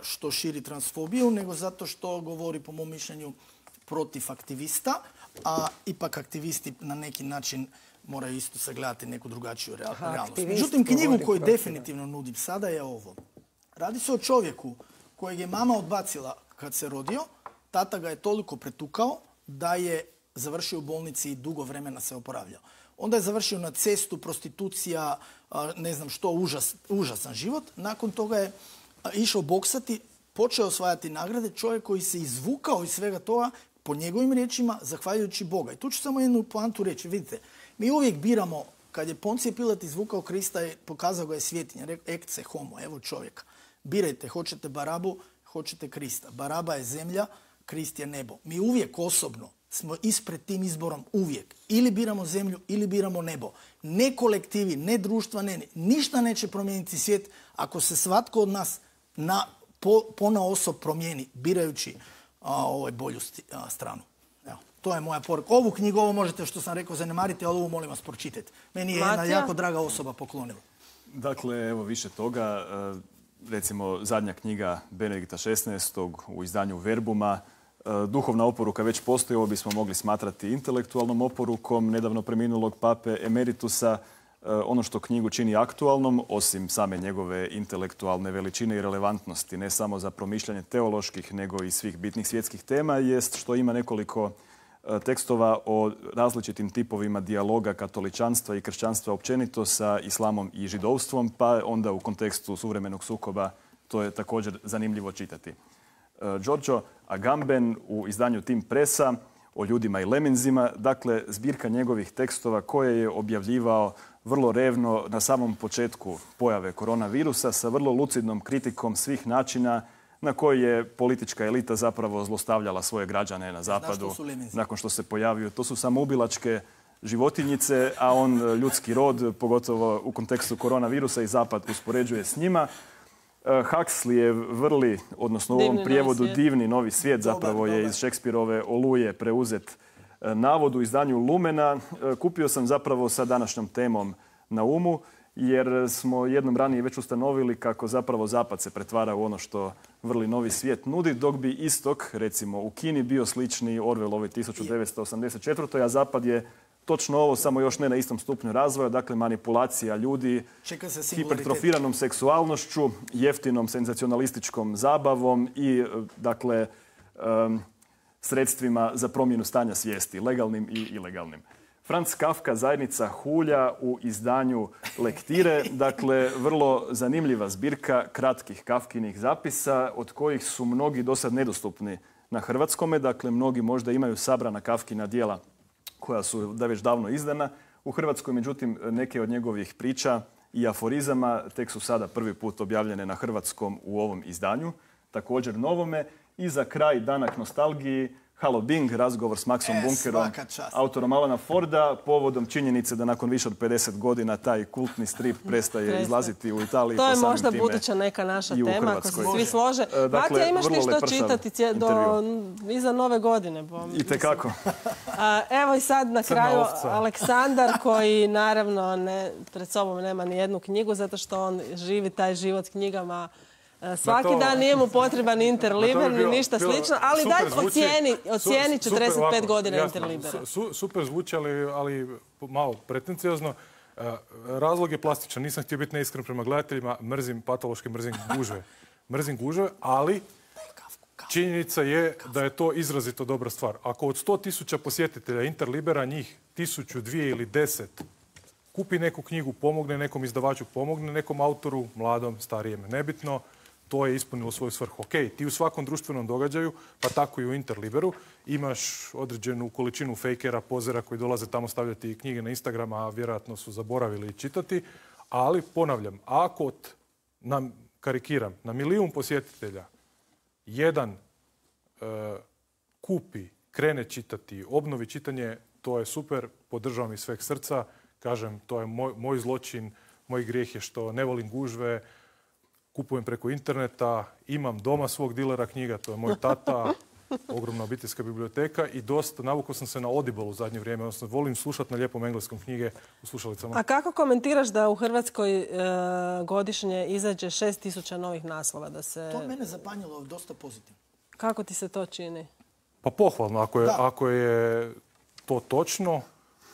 što širi transfobiju, nego zato što govori, po mom mišljenju, protiv aktivista, a ipak aktivisti na neki način moraju isto sagledati neku drugačiju realnost. Međutim, knjigu koju definitivno nudim sada je ovo. Radi se o čovjeku kojeg je mama odbacila kad se rodio, tata ga je toliko pretukao da je završio u bolnici i dugo vremena se oporavljao. Onda je završio na cestu, prostitucija, ne znam što, užasan život. Nakon toga je išao boksati, počeo osvajati nagrade, čovjek koji se izvukao iz svega toga, po njegovim riječima, zahvaljujući Boga. I tu ću samo jednu poantu reći. Vidite, mi uvijek biramo, kad je Poncije Pilat izvukao Krista, pokazao ga je svjetinja, rekao ecce homo, evo čovjeka. Birajte, hoćete Barabu, hoćete Krista. Baraba je zemlja, Krist je nebo. Mi uvijek osobno smo ispred tim izborom uvijek. Ili biramo zemlju, ili biramo nebo. Ne kolektivi, ne društva, ništa neće promijeniti svijet ako se svatko od nas ponaosob promijeni, birajući bolju stranu. Evo, to je moja poruka. Ovu knjigu, ovo možete, što sam rekao, zanemariti, ali ovu molim vas pročitajte. Meni je jedna jako draga osoba poklonila. Dakle, evo više toga. Recimo, zadnja knjiga Benedikta XVI. U izdanju Verbuma. Duhovna oporuka već postoji, ovo bismo mogli smatrati intelektualnom oporukom nedavno preminulog pape Emeritusa. Ono što knjigu čini aktualnom, osim same njegove intelektualne veličine i relevantnosti, ne samo za promišljanje teoloških, nego i svih bitnih svjetskih tema, jest što ima nekoliko tekstova o različitim tipovima dijaloga katoličanstva i kršćanstva općenito sa islamom i židovstvom, pa onda u kontekstu suvremenog sukoba to je također zanimljivo čitati. Giorgio Agamben u izdanju Tim Pressa o ljudima i lemenzima, dakle zbirka njegovih tekstova koje je objavljivao vrlo revno na samom početku pojave koronavirusa sa vrlo lucidnom kritikom svih načina na koji je politička elita zapravo zlostavljala svoje građane na zapadu nakon što se pojavio. To su samoubilačke životinjice, a on ljudski rod, pogotovo u kontekstu koronavirusa, i zapad uspoređuje s njima. Huxleyjev Vrli, odnosno u ovom prijevodu Divni novi svijet, zapravo je iz Šekspirove Oluje preuzet navod u izdanju Lumena. Kupio sam zapravo sa današnjom temom na umu, jer smo jednom ranije već ustanovili kako zapravo zapad se pretvara u ono što Vrli novi svijet nudi, dok bi istok, recimo u Kini, bio slični Orwellovoj 1984. a zapad je točno ovo, samo još ne na istom stupnju razvoja, dakle manipulacija ljudi, hipertrofiranom seksualnošću, jeftinom senzacionalističkom zabavom i dakle sredstvima za promjenu stanja svijesti, legalnim i ilegalnim. Franz Kafka, Zajednica hulja u izdanju Lektire, dakle vrlo zanimljiva zbirka kratkih Kafkinih zapisa od kojih su mnogi dosad nedostupni na hrvatskome, dakle mnogi možda imaju sabrana Kafkina djela koja su već davno izdana. U Hrvatskoj, međutim, neke od njegovih priča i aforizama tek su sada prvi put objavljene na hrvatskom u ovom izdanju, također novome. I za kraj, danak nostalgiji, Halo Bing, razgovor s Maxom Bunkerom, autorom Alana Forda, povodom činjenice da nakon više od 50 godina taj kultni strip prestaje izlaziti u Italiji. To je možda buduća neka naša tema, ako se svi slože. Matija, imaš ti što čitati iza nove godine? Itekako. Evo i sad na kraju Aleksandar, koji naravno pred sobom nema ni jednu knjigu, zato što on živi taj život knjigama. Svaki dan nije mu potreban Interliber ni ništa slično, ali daj ocijeni 45 godina Interlibera. Super zvuči, ali malo pretenciozno. Razlog je plastičan. Nisam htio biti neiskren prema gledateljima. Patološki mrzim gužve. Mrzim gužve, ali činjenica je da je to izrazito dobra stvar. Ako od 100.000 posjetitelja Interlibera njih 1.000, 2 ili 10 kupi neku knjigu, pomogne nekom izdavaču, pomogne nekom autoru, mladom, starijem, nebitno, to je ispunilo svoju svrhu. Ok, ti u svakom društvenom događaju, pa tako i u Interliberu, imaš određenu količinu fejkera, pozera koji dolaze tamo stavljati knjige na Instagram, a vjerojatno su zaboravili čitati. Ali, ponavljam, ako karikiram, na 1 milijun posjetitelja jedan kupi, krene čitati, obnovi čitanje, to je super, podržavam iz sveg srca. Kažem, to je moj zločin, moj grijeh je što ne volim gužve, kupujem preko interneta, imam doma svog dilera knjiga, to je moj tata, ogromna obiteljska biblioteka i dosta, navukao sam se na Audible u zadnje vrijeme, odnosno volim slušati na lijepom engleskom knjige u slušalicama. A kako komentiraš da u Hrvatskoj godišnje izađe 6.000 novih naslova? To mene zapanjilo dosta pozitivno. Kako ti se to čini? Pa pohvalno, ako je to točno,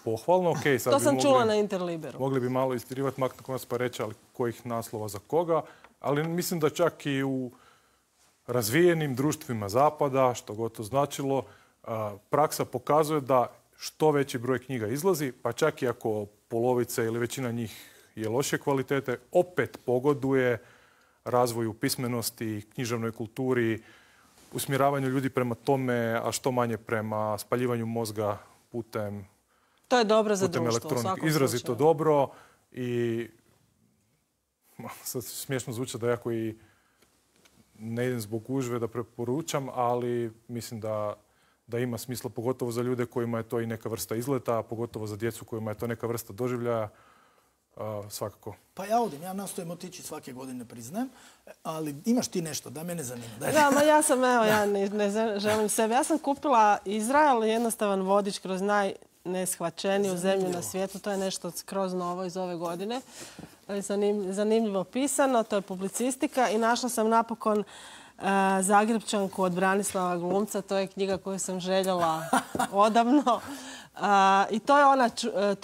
pohvalno, ok. To sam čula na Interliberu. Mogli bi malo istirivati maknuti pa reći ali kojih naslova za koga, ali mislim da čak i u razvijenim društvima Zapada, što god to značilo, praksa pokazuje da što veći broj knjiga izlazi, pa čak i ako polovica ili većina njih je loše kvalitete, opet pogoduje razvoju pismenosti, književnoj kulturi, usmjeravanju ljudi prema tome, a što manje prema spaljivanju mozga putem to je dobro za društvo, u svakom izrazito slučaju. dobro i sad smiješno zvuči da ja koji ne idem zbog gužve da preporučam, ali mislim da ima smisla, pogotovo za ljude kojima je to i neka vrsta izleta, pogotovo za djecu kojima je to neka vrsta doživljaja, svakako. Pa ja nastojim otići svake godine, priznajem, ali imaš ti nešto, da mene zanima. Da, ja sam, ja ne želim sebe. Ja sam kupila Izrael, jednostavan vodič kroz najneshvaćeniju zemlju na svijetu. To je nešto skroz novo iz ove godine. Zanimljivo pisano, to je publicistika i našla sam napokon Zagrepčanku od Branislava Glumca. To je knjiga koju sam željela odavno. I to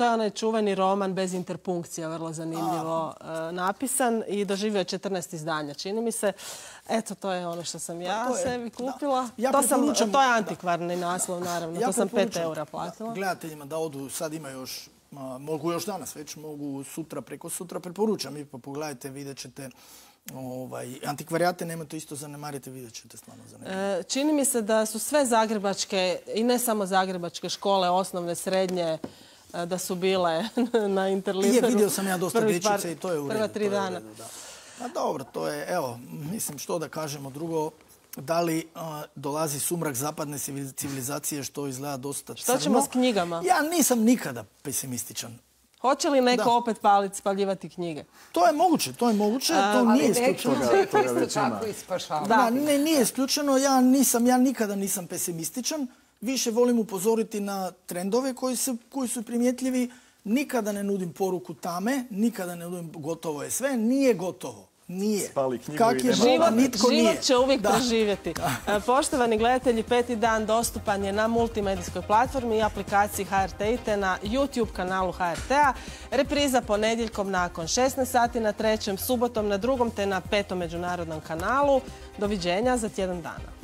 je onaj čuveni roman bez interpunkcija, vrlo zanimljivo napisan i doživio je 14 izdanja. Čini mi se, eto, to je ono što sam ja sebi kupila. To je antikvarni naslov, naravno. To sam 5 eura platila. Gledateljima da odu, sad ima još, mogu još danas već, mogu sutra, preko sutra, preporučam i pa pogledajte, vidjet ćete. Antikvarijate nemojte isto zanemariti, vidjet ćete stvarno zanimljivo. Čini mi se da su sve zagrebačke i ne samo zagrebačke škole, osnovne, srednje, da su bile na Interliberu. Vidio sam ja dosta dječice i to je u redu. Prva 3 dana. Pa dobro, to je, evo, mislim što da kažemo drugo, da li dolazi sumrak zapadne civilizacije što izgleda dosta crno. Što ćemo s knjigama? Ja nisam nikada pesimističan. Hoće li neko opet spaljivati knjige? To je moguće, to nije isključeno. Nije isključeno, ja nikada nisam pesimističan. Više volim upozoriti na trendove koji su primjetljivi. Nikada ne nudim poruku tame, nikada ne nudim gotovo je sve. Nije gotovo. Nije. spali knjigu Kak i je nema život, plana. nitko nije. Život će uvijek Da. preživjeti. Poštovani gledatelji, 5. dan dostupan je na multimedijskoj platformi i aplikaciji HRT te na YouTube kanalu HRT-a. Repriza ponedjeljkom nakon 16 sati na 3., subotom na 2. te na 5. međunarodnom kanalu. Doviđenja za tjedan dana.